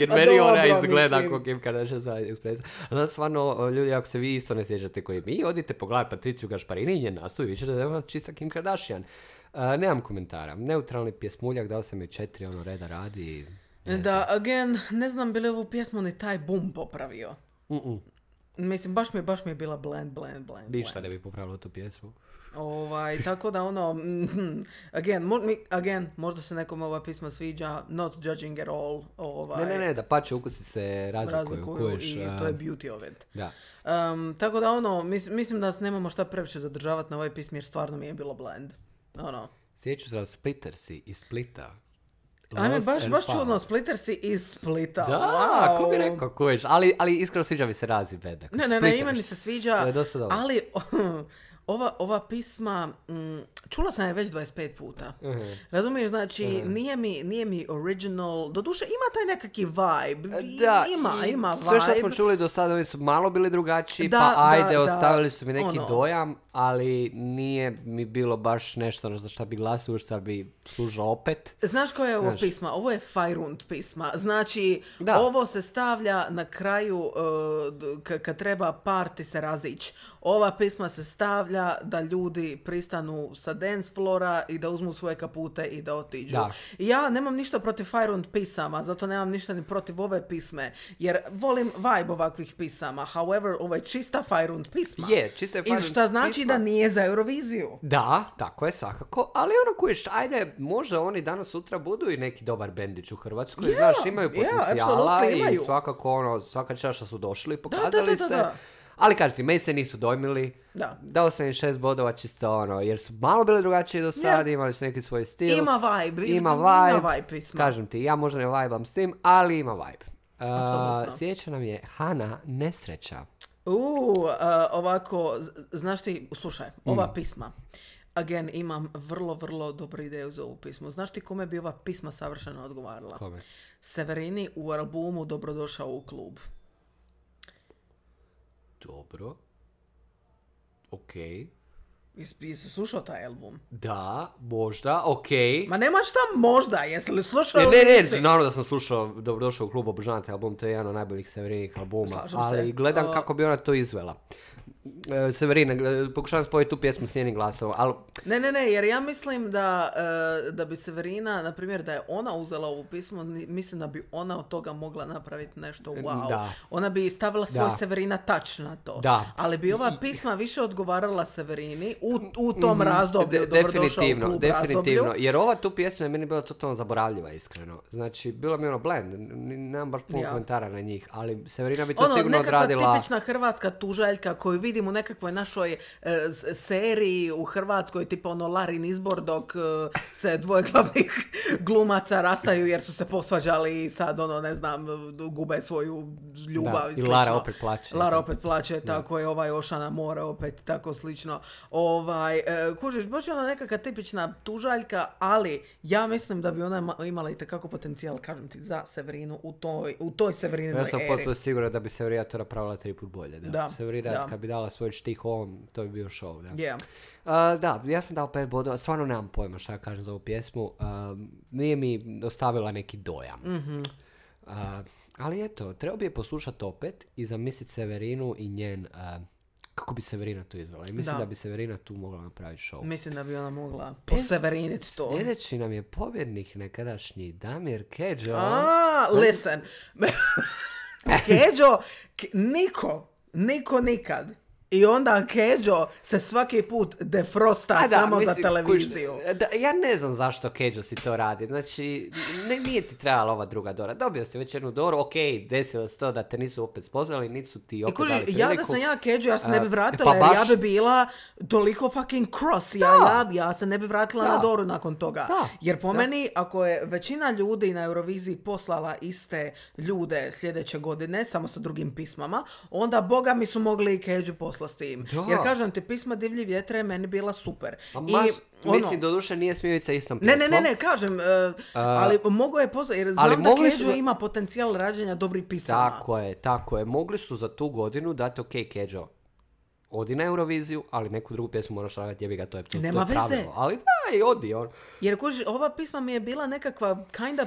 Jer A meni ona dobro, izgleda mislim. kao Kim Kardashian s AliExpressa. Ali stvarno, ljudi, ako se vi isto ne sjećate koji mi, odite pogledati Patriciju Gašparini i njen nastup i vi ćete da je ona čista Kim Kardashian. Uh, nemam komentara. Neutralni pjesmuljak, dao sam joj četiri, ono reda radi. Da, again, ne znam bi li ovu pjesmu ni taj bum popravio. Mm-mm. Mislim, baš mi je, baš mi je bila blend, blend, blend. Ništa blend. ne bi popravilo tu pjesmu. Ovaj, tako da ono, mm, again, mo, mi, again, možda se nekom ova pisma sviđa, not judging at all. Ovaj, Ne, ne, ne, da pače ukusi se razlikuju. razlikuju kuješ, i a, to je beauty of it. Da. Um, tako da ono, mis, mislim da se nemamo šta previše zadržavati na ovoj pismi jer stvarno mi je bilo blend. Ono. Sjeću se Splittersi iz Splita. Ajme, Lost baš, and baš Found. čudno, Splittersi iz Splita. Da, wow. ko bi rekao, kuješ, ali, ali iskreno sviđa mi se razi bed. Ne, ne, ne, ime mi se sviđa, To je dosta dobro. ali ova, ova pisma, mm, čula sam je već dvadeset pet puta. Uh-huh. Razumiješ, znači, uh-huh. nije, mi, nije mi original, doduše ima taj nekakvi vibe, Da, ima, i ima vibe. sve što smo čuli do sada, oni su malo bili drugačiji, Da, pa da, ajde, da, ostavili su mi neki ono. dojam, ali nije mi bilo baš nešto za što bi glasio, što bi služilo opet. Znaš koja je ovo Znaš. pisma? Ovo je Fajrund pisma. Znači, Da. ovo se stavlja na kraju uh, k- kad treba parti se razić. Ova pisma se stavlja da ljudi pristanu sa dance flora i da uzmu svoje kapute i da otiđu. Da. I ja nemam ništa protiv Fajrund pisama, zato nemam ništa ni protiv ove pisme, jer volim vibe ovakvih pisama. However, ovo je čista Fajrund pisma. Je, čista je I Fajrund šta znači pisma. da nije za Euroviziju. Da, tako je svakako, ali ono kuješ, ajde, možda oni danas sutra budu i neki dobar bendić u Hrvatskoj, Ja, znaš, imaju ja, potencijala apsolutno i imaju. svakako ono, svaka čast što su došli i da, pokazali da, da, se, da. ali kažem ti, meni se nisu dojmili, Da. dao sam im šest bodova čisto ono, jer su malo bili drugačiji do sada, imali su neki svoj stil. Ima vibe. Ima Ima vibe, vibe pisma. kažem ti, ja možda ne vibam s tim, ali ima vibe. Uh, Apsolutno. sljedeća nam je Hana Nesreća. U, uh, ovako, z- znaš ti, slušaj, ova Mm. pisma, again, imam vrlo, vrlo dobru ideju za ovu pismu. Znaš ti kome bi ova pisma savršeno odgovarala? Kome? Severini u albumu Dobrodošao u klub. Dobro. Okej. Jes- Jesi slušao taj album? Da, možda, okej. Ma nema šta možda, jesi li slušao Ne, ili ne, ne, nisi? naravno da sam slušao Dobrodošao u klub, obožavam taj album, to je jedan od najboljih Severinih albuma, Slažem ali se. gledam O- kako bi ona to izvela. E, Severina, gle- pokušavam spojiti tu pjesmu s njenim glasom, ali Ne, ne, ne, jer ja mislim da, e, da bi Severina, na primjer, da je ona uzela ovu pismu, ni- mislim da bi ona od toga mogla napraviti nešto wow. Da. Ona bi stavila svoj Da. Severina touch na to. Da. Ali bi ova pisma više odgovarala Severini u, u tom razdoblju, De- Dobrodošao u definitivno, klub definitivno, razdoblju. jer ova tu pjesma je meni bila totalno zaboravljiva, iskreno. Znači, bilo mi ono blend, n- nemam baš puno Ja. komentara na njih, ali Severina bi to Ono, sigurno nekakva odradila. tipična hrvatska tužaljka koju vidim u nekakvoj našoj e, s- seriji u Hrvatskoj, tipa ono Larin izbor dok e, se dvoje glavnih glumaca rastaju jer su se posvađali i sad ono, ne znam, gube svoju ljubav Da, i i slično. Lara opet plače. Lara opet plače, tako je ovaj Ošana more opet, tako slično. Ovaj, e, kužiš, baš je ona nekakva tipična tužaljka, ali ja mislim da bi ona ima- imala i tekako potencijal, kažem ti, za Severinu u toj, u toj Severinoj Ja sam eri. potpuno siguran da bi Severina to napravila tri put bolje. Da. Da, Severina, da. kad bi dala svoj štih ovom, to bi bio show. Da. Yeah. Uh, da, ja sam dao pet bodova, stvarno nemam pojma šta kažem za ovu pjesmu. Uh, nije mi ostavila neki dojam. Mhm. Uh, ali eto, treba bi je poslušati opet i zamisliti Severinu i njen... uh, kako bi Severina to izvela. I mislim da, Da. bi Severina tu mogla napraviti show. Mislim da bi ona mogla poseveriniti to. Sljedeći nam je pobjednik nekadašnji Damir Kedžo. A, listen. Keđo, ke, niko, niko nikad. I onda Keđo se svaki put defrosta A da, samo mislim, za televiziju. kuž, da, ja ne znam zašto Keđo si to radi. Znači, ne, nije ti trebala ova druga Dora. Dobio si već jednu Doru, ok, desilo se to da te nisu opet spoznali, nisu ti opet I kuži, dali priliku. ja da sam ja Keđo, ja se ne bi vratila, pa jer baš- ja bi bila toliko fucking cross. Ja, ja, ja se ne bi vratila Da. na Doru nakon toga. Da. Jer po Da. meni, ako je većina ljudi na Euroviziji poslala iste ljude sljedeće godine, samo sa drugim pismama, onda boga mi su mogli i Keđu poslati s tim. Da. Jer kažem ti, pisma Divlji vjetre je meni bila super. A I, maš, ono, mislim, doduše nije Smiljica istom Ne, pjesmom. ne, ne, ne, kažem, uh, ali mogo je poslati, jer znam ali da mogli Keđo su- ima potencijal rađenja dobrih pisama. Tako je, tako je. Mogli su za tu godinu dati, ok, Keđo, odi na Euroviziju, ali neku drugu pjesmu moraš raditi, jebi ga, to je, to, Nema to je veze. pravilo. Ali da, i odi, on. Jer kuži, ova pisma mi je bila nekakva kinda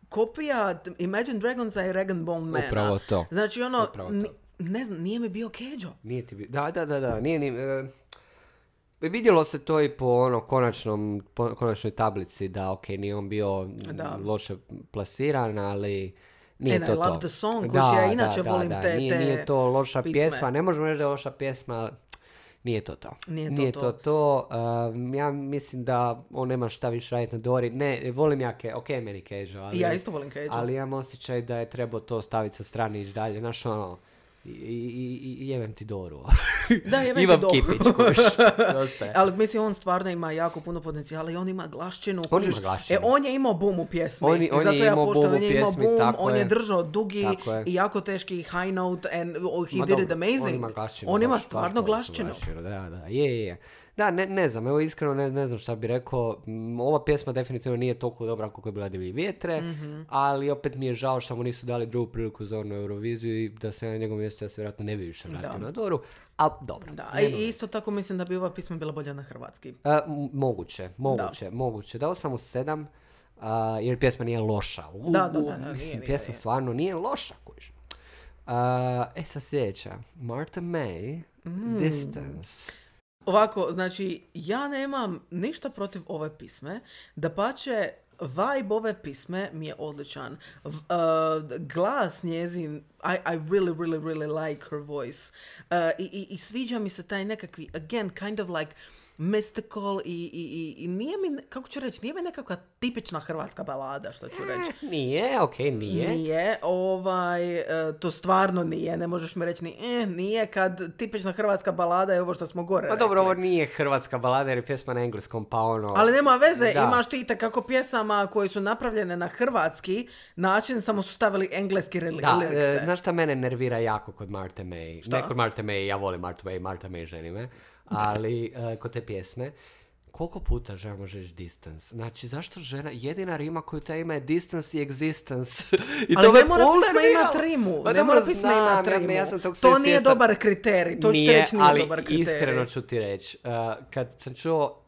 kopija Imagine Dragonsa i Rag and Bone Mana. Upravo to. Znači ono, Upravo to. ni- ne znam, nije mi bio Keđo. Nije ti bi... Da, da, da, da, nije ni... E, vidjelo se to i po ono konačnom, po, konačnoj tablici da, ok, nije on bio Da. loše plasiran, ali nije And to I to. love the song, kuži, ja inače volim te- nije, te nije to loša pisme. pjesma, ne možemo reći da je loša pjesma, ali nije to to. Nije to to. to. to. Um, ja mislim da on nema šta više raditi na Dori. Ne, volim ja, ke, ok, meni Keđo, ali... I ja isto volim Keđo. Ali imam osjećaj da je trebao to staviti sa strane i ići dalje. Znaš, ono, i, i, i- i jebem ti Doru. Da, jebem ti Imam Doru. kipić, kuš. Dosta je. Ali mislim, on stvarno ima jako puno potencijala i on ima glašćinu. On kužiš. ima glašćinu. E, on je imao bum u pjesmi. On je- I on je zato ja imao poštujem, bum u on je imao pjesmi, bum, tako on je je. držao dugi Tako je. i jako teški high note and oh, he Ma did dobro, it amazing. On ima glašćinu. On ima baš, stvarno baš veliku glašćinu. Da, da, je, je, je. Da, ne, ne znam, evo iskreno ne, ne znam šta bi rekao. Mm, Ova pjesma definitivno nije toliko dobra koliko je bila Divlji vjetre, Mhm. ali opet mi je žao što mu nisu dali drugu priliku za onu Euroviziju i da se na njegovom mjestu ja se vjerojatno ne bi više vratio Da. na Doru, ali dobro. Da, nema i veze. isto tako mislim da bi ova pisma bila bolja na hrvatski. E, m- moguće, moguće, moguće. Dao sam mu sedam, a, jer pjesma nije loša. U, Da, da, u, da, da, nije, mislim, nije, pjesma nije. stvarno nije loša, kužiš. A, e, sad sljedeća. Martha May, Mm. Distance. Ovako, znači, ja nemam ništa protiv ove pisme. Dapače, vibe ove pisme mi je odličan. V- uh, glas njezin, I, I really, really, really like her voice. Uh, i, i, I sviđa mi se taj nekakvi, again, kind of like mystical i, i, i, i nije mi, kako ću reći, nije mi nekakva tipična hrvatska balada, što ću reći. Nije, okej, nije. Nije, ovaj, e, to stvarno nije, ne možeš mi reći ni, eh, nije, kad tipična hrvatska balada je ovo što smo gore Pa dobro, ovo rekli. nije hrvatska balada jer je pjesma na engleskom, pa ono... Ali nema veze, Da. imaš ti kako pjesama koje su napravljene na hrvatski način, samo su stavili engleski reli- Da, lirikse. e, znaš šta mene nervira jako kod Martha May? Šta? Ne kod Martha May, ja volim Martha May, Martha May ženi me, ali e, kod te pjesme, koliko puta žena može reći distance? Znači, zašto žena, jedina rima koju ta ima je distance i existence. I Ali to me ne mora full pisma nerviralo. imat rimu, Pa ne dobro, mora pisma znam, imat ja- rimu. ja sam tog To sve nije svjestan. dobar kriterij, to ću ti reći nije ali dobar kriterij. iskreno ću ti reći, uh, kad sam čuo,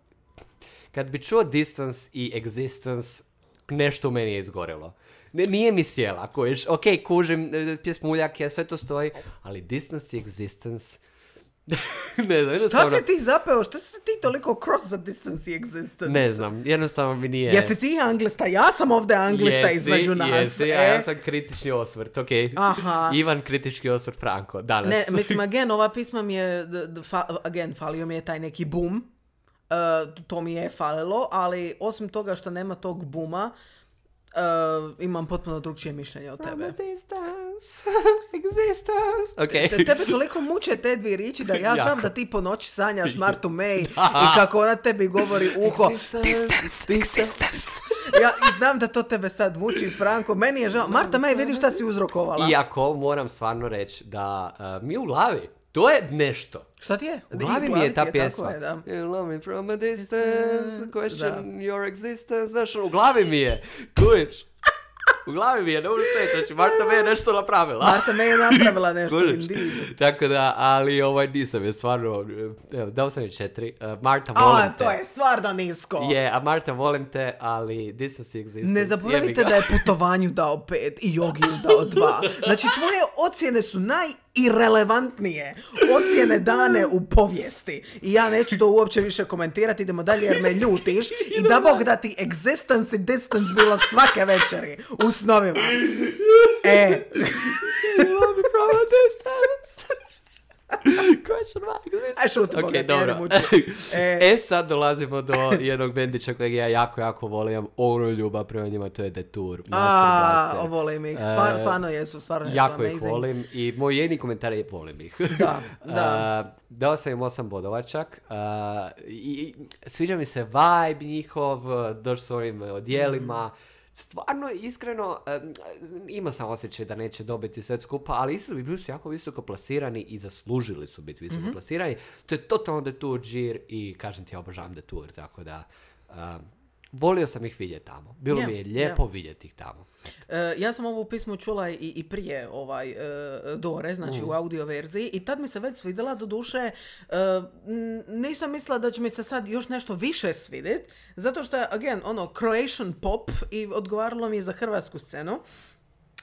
kad bi čuo distance i existence, nešto u meni je izgorelo. Ne, nije mi sjela, kojiš, ok, kužim, e, pjesmu Uljake, sve to stoji, ali distance i existence, ne znam, Šta jednostavno, si ti zapeo? Šta si ti toliko cross za distance i existence? ne znam, jednostavno mi nije... Jesi ti anglista? Ja sam ovdje anglista Jesi, između nas. Jesi, a e? ja sam kritični osvrt, ok. Aha. Ivan kritički osvrt Franko, danas. Ne, mislim, again, ova pisma mi je, d- d- fa- again, falio mi je taj neki boom. Uh, to mi je falilo, ali osim toga što nema tog buma, uh, imam potpuno drugčije mišljenje od From a tebe. distance, existence. Ok. Te, tebe toliko muče te dvije riječi da ja znam Jako. da ti po noći sanjaš Martu May i kako ona tebi govori u uho Existence, distance, existence. Ja i znam da to tebe sad muči, Franko. Meni je žao. Marta May, vidi šta si uzrokovala. Iako moram stvarno reći da uh, mi u glavi, to je nešto. Šta ti je? U glavi mi je ta ti pjesma. tako je, da. You love me from a distance, question Da. your existence. Znaš, u glavi mi je. Kužiš? U glavi mi je, ne možeš reći. Znači, Marta me je nešto napravila. Marta May je napravila nešto, Kužiš? indeed. Tako da, ali ovaj nisam je stvarno, evo, dao sam je četiri. Uh, Marta, volim A, te. to je stvarno nisko. Je, a Marta, volim te, ali distance i existence. Ne jebi zaboravite ga. da je putovanju dao pet i Jogiju dao dva. Znači, tvoje ocjene su najirelevantnije ocjene dane u povijesti. I ja neću to uopće više komentirati, idemo dalje jer me ljutiš. I da Bog da ti existence i distance bilo svake večeri u snovima. E, love me from a distance. Question mark. Aj šutimo okay, ga, dobro. E, e sad dolazimo do jednog bendića kojeg ja jako, jako volim. Ono ljubav prema njima, to je Detour. A, volim ih. Stvar, stvarno jesu, stvarno jesu jako amazing. ih volim i moj jedini komentar je volim ih. Da, da. Uh, dao sam im osam bodova čak. Uh, i, sviđa mi se vibe njihov, došli s ovim odjelima. Mm. Stvarno, iskreno, um, imao sam osjećaj da neće dobiti sve skupa, ali isto bi bili su jako visoko plasirani i zaslužili su biti visoko mm-hmm. plasirani. To je totalno Detour džir i kažem ti, ja obožavam Detour, tako da um, volio sam ih vidjeti tamo. Bilo yeah, mi je lijepo yeah. vidjeti ih tamo. Uh, ja sam ovu pismu čula i, i prije ovaj, uh, Dore, znači mm. u audio verziji, i tad mi se već svidjela, do duše uh, nisam mislila da će mi se sad još nešto više svidjeti, zato što je, again, ono, Croatian pop i odgovaralo mi je za hrvatsku scenu.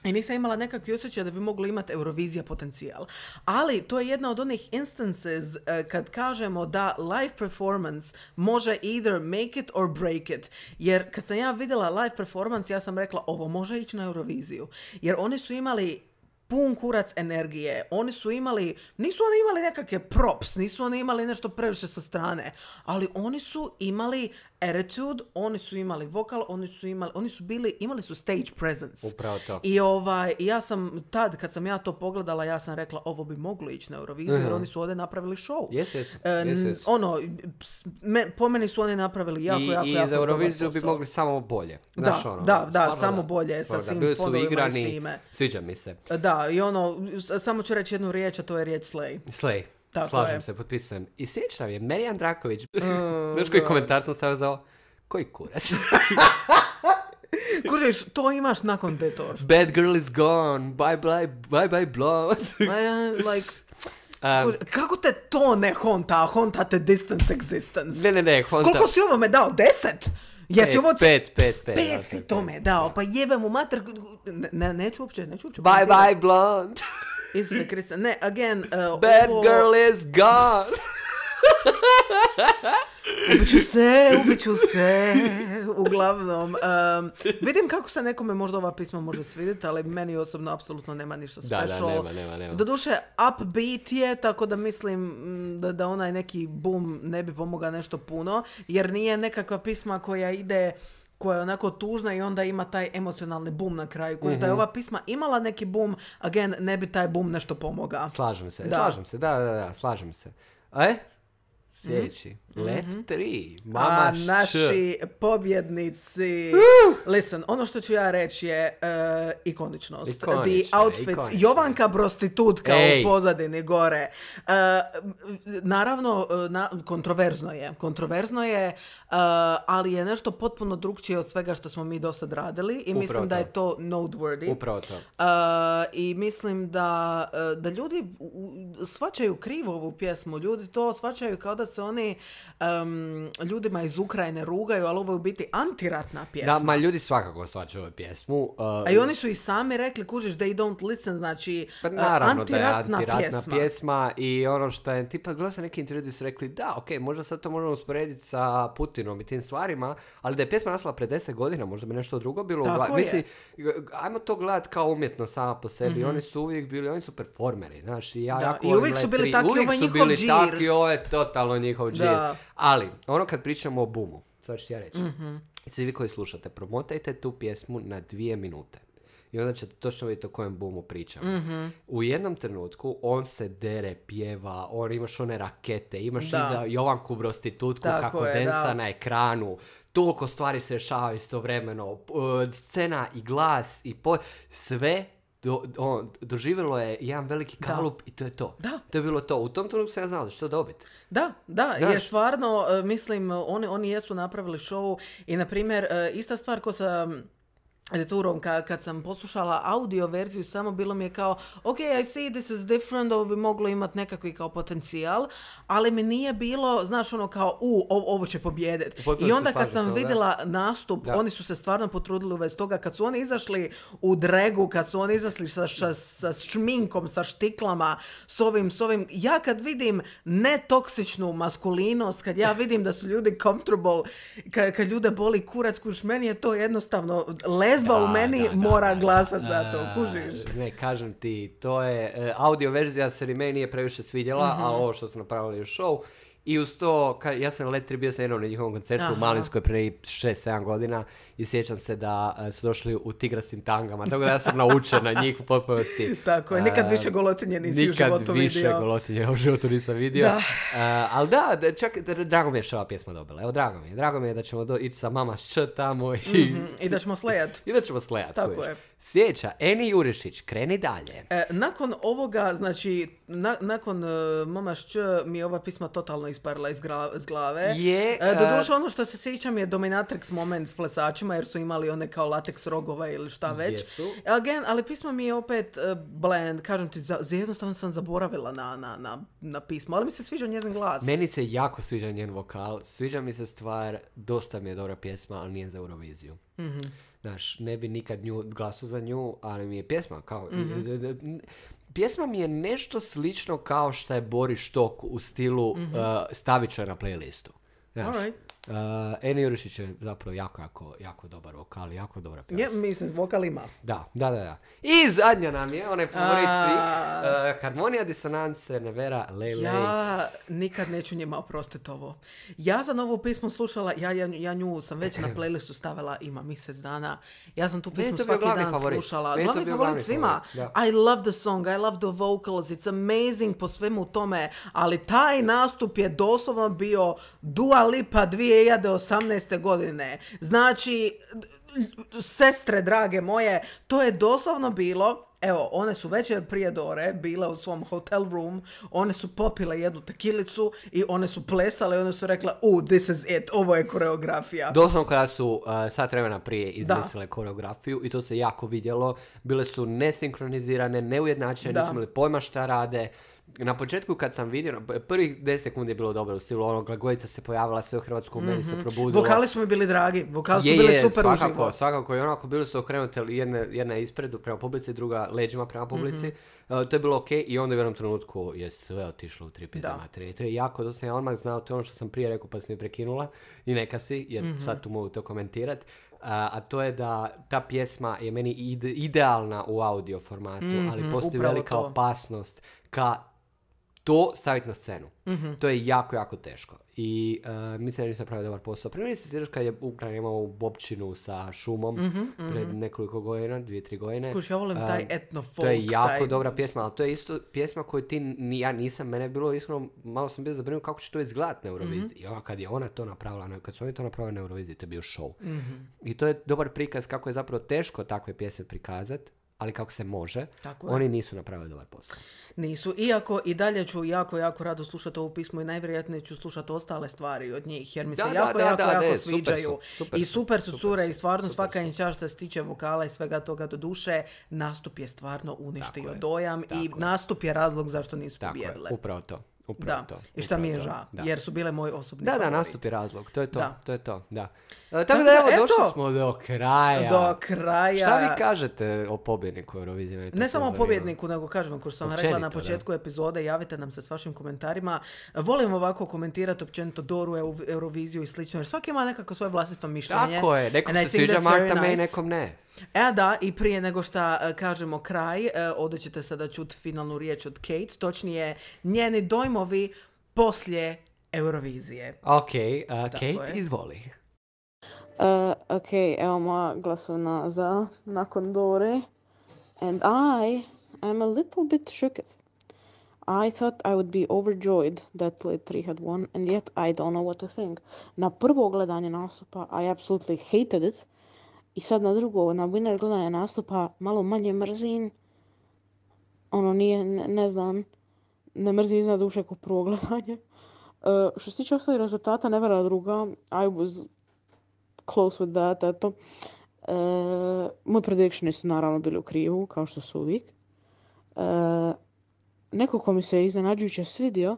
I nisam imala nekakvi osjećaj da bi moglo imati Eurovizija potencijal. Ali to je jedna od onih instances uh, kad kažemo da live performance može either make it or break it. Jer kad sam ja vidjela live performance, ja sam rekla ovo može ići na Euroviziju. Jer oni su imali pun kurac energije. Oni su imali, nisu oni imali nekakve props, nisu oni imali nešto previše sa strane, ali oni su imali attitude, oni su imali vokal, oni su imali, oni su bili, imali su stage presence. Upravo to. I ovaj, ja sam tad, kad sam ja to pogledala, ja sam rekla, ovo bi moglo ići na Euroviziju, uh-huh. jer oni su ovdje napravili show. Yes, yes. E, yes, yes. Ono, me, po meni su oni napravili jako, I, jako, i jako za Euroviziju bi mogli samo bolje. Znaš, da, ono, da, da, stvarno, samo da. bolje, Stvarno, sa svim bili su fondovima igrani, i svime. Sviđa mi se. Da, i ono, samo ću reći jednu riječ, a to je riječ slay. Slay. Tako Slažem je. se, potpisujem. I sjećam je, Marijan Draković. Uh, Znaš koji komentar sam stavio za ovo? Koji kurac? Kužiš, to imaš nakon Detour. Bad girl is gone. Bye bye, bye bye blonde. like, um, kužiš, kako te to ne honta? Honta te distance existence. Ne, ne, ne, honta. Koliko si ovo me dao? Deset? Jesi pet, ovo... Pet, pet, pet. Pet si to me dao, pa jebem u mater... Ne, neću uopće, neću uopće... Bye bye blonde. Isuse Krista, ne, again... Uh, Bad ovo... girl is gone. Ubiću se, ubiću se, uglavnom. Um, vidim kako se nekome možda ova pisma može svidjeti, ali meni osobno apsolutno nema ništa special. Da, da, nema, nema, nema. Doduše, upbeat je, tako da mislim da, da onaj neki boom ne bi pomogao nešto puno, jer nije nekakva pisma koja ide... koja je onako tužna i onda ima taj emocionalni boom na kraju. Kuži, mm-hmm. da je ova pisma imala neki boom, again, ne bi taj boom nešto pomogao. Slažem se, da. slažem se, da, da, da, slažem se. E? Sljedeći. Mm-hmm. Let tri. Mama A š. naši pobjednici. Uh! Listen, ono što ću ja reći je uh, ikoničnost. Ikonična, The outfits. ikonična. Jovanka prostitutka Ej. u pozadini gore. Uh, naravno, uh, na, kontroverzno je. Kontroverzno je, uh, ali je nešto potpuno drugčije od svega što smo mi do sad radili i Upravo mislim to. da je to noteworthy. Upravo to. Uh, I mislim da, uh, da ljudi u, shvaćaju krivo ovu pjesmu. Ljudi to shvaćaju kao da se oni um, ljudima iz Ukrajine rugaju, ali ovo je u biti antiratna pjesma. Da, ma ljudi svakako shvaćaju ovu pjesmu. Uh, A i oni su i sami rekli, kužiš, they don't listen, znači pa uh, naravno antiratna, da je antiratna pjesma. pjesma i ono što je, tipa, gledao sam neki intervju gdje su rekli, da, ok, možda sad to možemo usporediti sa Putinom i tim stvarima, ali da je pjesma nastala pred deset godina, možda bi nešto drugo bilo. Tako Gla- je. Mislim, ajmo to gledati kao umjetno sama po sebi, Mm-hmm. oni su uvijek bili, oni su performeri, znaš, i ja Da, jako i volim uvijek su Let bili tri, taki, uvijek ovo je su njihov bili džir. taki, ovo je totalno njihov džir. Da. Ali, ono kad pričamo o boomu, sad ću ti ja reći, Mm-hmm. svi vi koji slušate, promotajte tu pjesmu na dvije minute. I onda ćete točno vidjeti o kojem boomu pričamo. Mm-hmm. U jednom trenutku on se dere, pjeva, on imaš one rakete, imaš Da. iza Jovanku prostitutku Tako kako je, densa da. na ekranu. Toliko stvari se rešavaju istovremeno. Uh, scena i glas i po... sve do, on, doživjelo je jedan veliki kalup i to je to. Da. To je bilo to. U tom trenutku sam ja znao da će to dobiti. Da, da, Znaš. jer stvarno, uh, mislim, oni, oni jesu napravili show i, na primjer, uh, ista stvar ko sa Detourom, kad, kad sam poslušala audio verziju, samo bilo mi je kao, ok, I see this is different, ovo bi moglo imati nekakvi kao potencijal, ali mi nije bilo, znaš, ono kao, u, ovo, ovo će pobijediti. Potpuno I se onda kad slažem sam s tobom, da. vidjela nastup, Da. oni su se stvarno potrudili u vezi toga, kad su oni izašli u dregu, kad su oni izašli sa, sa, sa šminkom, sa štiklama, s ovim, s ovim, ja kad vidim netoksičnu maskulinost, kad ja vidim da su ljudi comfortable, kad, kad ljude boli kurac, kuš, meni je to jednostavno, jezba u Da, meni da, da, mora da, glasat da. za to, kužiš? Ne, kažem ti, to je, e, audio verzija se ni meni nije previše svidjela, Mhm. ali ovo što su napravili u show, i uz to, ka, ja sam na Letri bio sam jednom na njihovom koncertu Aha. u Malinskoj prije šest sedam godina i sjećam se da e, su došli u tigrastim tangama, tako da ja sam naučen na njih u potpunosti. Tako je, nikad E, više golotinje nisi u životu Nikad više vidio. golotinje u životu nisam vidio. Da. E, ali da, da, čak, da, drago mi je što je ova pjesma dobila. Evo, drago mi je. Drago mi je da ćemo do, ići sa Mama Š tamo i, Mhm, I da ćemo slejat. i da ćemo slejat. Tako kužiš. je. Sljedeća, Eni Jurišić, kreni dalje. E, nakon ovoga, znači, na, nakon uh, Mama Šć mi je ova pisma totalno isparila iz, gra, iz glave. Je, E, doduše, e, ono što se sjećam je dominatrix moment s plesačima, jer su imali one kao lateks rogova ili šta već. Jesu. Again, ali pismo mi je opet uh, blend, kažem ti, za, za jednostavno sam zaboravila na, na, na, na pismo, ali mi se sviđa njezin glas. Meni se jako sviđa njen vokal, sviđa mi se stvar, dosta mi je dobra pjesma, ali nije za Euroviziju. Mhm. Znaš, ne bi nikad nju, glasao za nju, ali mi je pjesma kao... Mhm. Pjesma mi je nešto slično kao što je Boris Štok u stilu uh, stavit ću je na playlistu. Znaš, Alright. uh, Eni Jurišić je zapravo jako, jako, jako dobar vokal, jako dobra pjesma. Je, mislim, vokal ima. Da, da, da, da. I zadnja nam je, onaj favorit svih, A. uh, Harmonija disonance, Nevera, Lej, Lej. Ja nikad neću njima oprostiti ovo. Ja sam ovu pismu slušala, ja, ja, ja nju sam već na playlistu stavila, ima mjesec dana. Ja sam tu Meni je pismu to bio svaki glavni dan favorit. slušala. Meni je to Glavni bio favorit glavni svima. favorit, da. I love the song, I love the vocals, it's amazing po svemu tome, ali taj nastup je doslovno bio Dua Lipa dvije hiljade osamnaeste. godine. Znači, sestre drage moje, to je doslovno bilo. Evo, one su večer prije Dore bile u svom hotel room, one su popile jednu tekilicu i one su plesale i one su rekla, uh, this is it, ovo je koreografija. Doslovno kada su uh, sat vremena prije izmislile koreografiju i to se jako vidjelo, bile su nesinkronizirane, neujednačene, Da. nisu imali pojma šta rade. Na početku kad sam vidio, prvih deset sekundi je bilo dobro u stilu onog Glagojica se pojavila sve u Hrvatsku, meni se probudilo. Vokali su mi bili dragi, vokali su Je, bili je, super svakako, uživo. svakako i onako bili su okrenute jedna, jedna je ispred prema publici, druga leđima prema publici. Uh, to je bilo ok i onda u jednom trenutku je sve otišlo u tri pizde Da. materije. To je jako, to sam ja odmah znao, to je ono što sam prije rekao pa sam mi prekinula i neka si, jer sad tu mogu to komentirat. Uh, a to je da ta pjesma je meni ide, idealna u audio formatu, ali postoji upravo velika to. opasnost ka to staviti na scenu. Mhm. To je jako, jako teško. I uh, mislim da nisam napravio dobar posao. Primjer se sjećaš kad je Ukrajina imao u Bobčinu sa šumom pred nekoliko godina, dvije, tri godine. Kuš, ja volim Uh, taj etno folk. To je jako taj... dobra pjesma, ali to je isto pjesma koju ti, ni, ja nisam, mene je bilo iskreno, malo sam bio zabrinut kako će to izgledat na Euroviziji. I ona, kad je ona to napravila, kad su oni to napravili na Euroviziji, to je bio show. I to je dobar prikaz kako je zapravo teško takve pjesme prikazat, ali kako se može, Tako je. oni nisu napravili dobar posao. Nisu. Iako i dalje ću jako, jako rado slušati ovu pismu i najvjerojatnije ću slušati ostale stvari od njih, jer mi se Da, da, jako, da, jako, da, jako da, sviđaju. super su, super I su, super su super cure su, i stvarno super svaka su. im čast što se tiče vokala i svega toga do duše. Nastup je stvarno uništio Tako je, dojam i tako je. nastup je razlog zašto nisu Tako je, pobijedile. upravo to. Upravo Da, to. i šta mi je upravo to, žao, da. jer su bile moj osobni Da, da, favorit. nastup je razlog, to je to, Da. to je to, da. E, Tako tako da da, evo, eto. došli smo do kraja. Do kraja. Šta vi kažete o pobjedniku Eurovizije? Mene to Ne sve samo o zanima. pobjedniku, nego kažem, kao što sam rekla na Općenito, početku epizode, javite nam se s vašim komentarima. Volim ovako komentirati općenito Doru, Eu- Euroviziju i slično, jer svaki ima nekako svoje vlastito mišljenje. Tako je, nekom And I se think sviđa that's Marta very May, nice. nekom ne. E da, i prije nego što e, kažemo kraj, e, ovdje ćete sada čuti finalnu riječ od Kate, točnije njeni dojmovi poslije Eurovizije. Ok, uh, Kate, je. izvoli. Uh, ok, evo moja glasovna za nakon Dore. And I am a little bit shooked. I thought I would be overjoyed that Led three had won, and yet I don't know what to think. Na prvo gledanje nastupa, I absolutely hated it. I sad na drugo, na winner gledanje nastupa, malo manje mrzim. Ono nije, ne, ne znam, ne mrzim iznad duše ko prvo gledanje. Uh, što se tiče ostalih rezultata, Nevera druga, I was close with that, eto. Uh, moji predictioni su naravno bili u krivu, kao što su uvijek. Uh, neko ko mi se iznenađujuće svidio uh,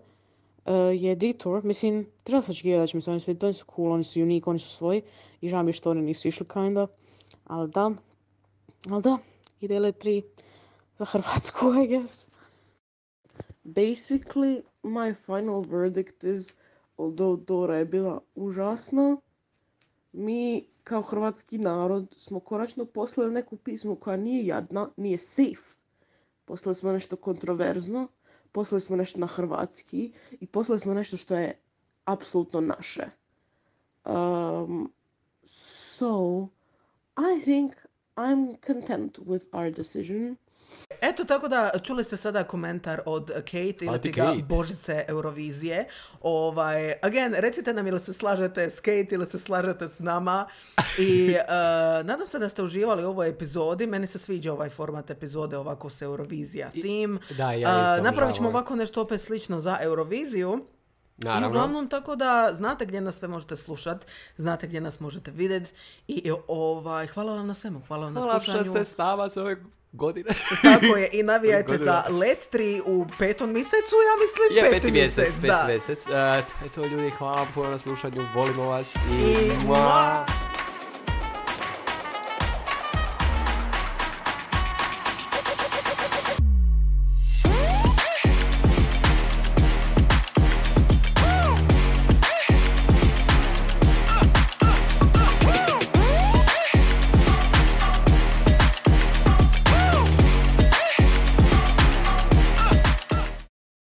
je Detour. Mislim, treba se očekivati da će mi se oni svidjeti. Oni su cool, oni su unique, oni su svoji. I žao mi je što oni nisu išli kinda. Ali da, ali da, ide Led tri za Hrvatsku, I guess. Basically, my final verdict is, although Dora je bila užasna, mi kao hrvatski narod smo konačno poslali neku pismu koja nije jadna, nije safe. Poslali smo nešto kontroverzno, poslali smo nešto na hrvatski i poslali smo nešto što je apsolutno naše. Um, so, I think I'm content with our decision. Eto, tako da čuli ste sada komentar od Kate ili ti ga Božice Eurovizije. Ovaj, again, recite nam ili se slažete s Kate ili se slažete s nama. I uh, nadam se da ste uživali u ovoj epizodi. Meni se sviđa ovaj format epizode ovako s Eurovizija theme. Da, ja isto uh, napravit ćemo ovako nešto opet slično za Euroviziju. Naravno. I uglavnom tako da znate gdje nas sve možete slušati, znate gdje nas možete vidjeti i ovaj, hvala vam na svemu, hvala vam hvala na slušanju. Hvala što se s nama s ove godine. Tako je, i navijajte za Let tri u petom mjesecu, ja mislim je, peti, peti mjesec. mjesec, peti mjesec. Uh, eto ljudi, hvala vam puno na slušanju, volimo vas i... I...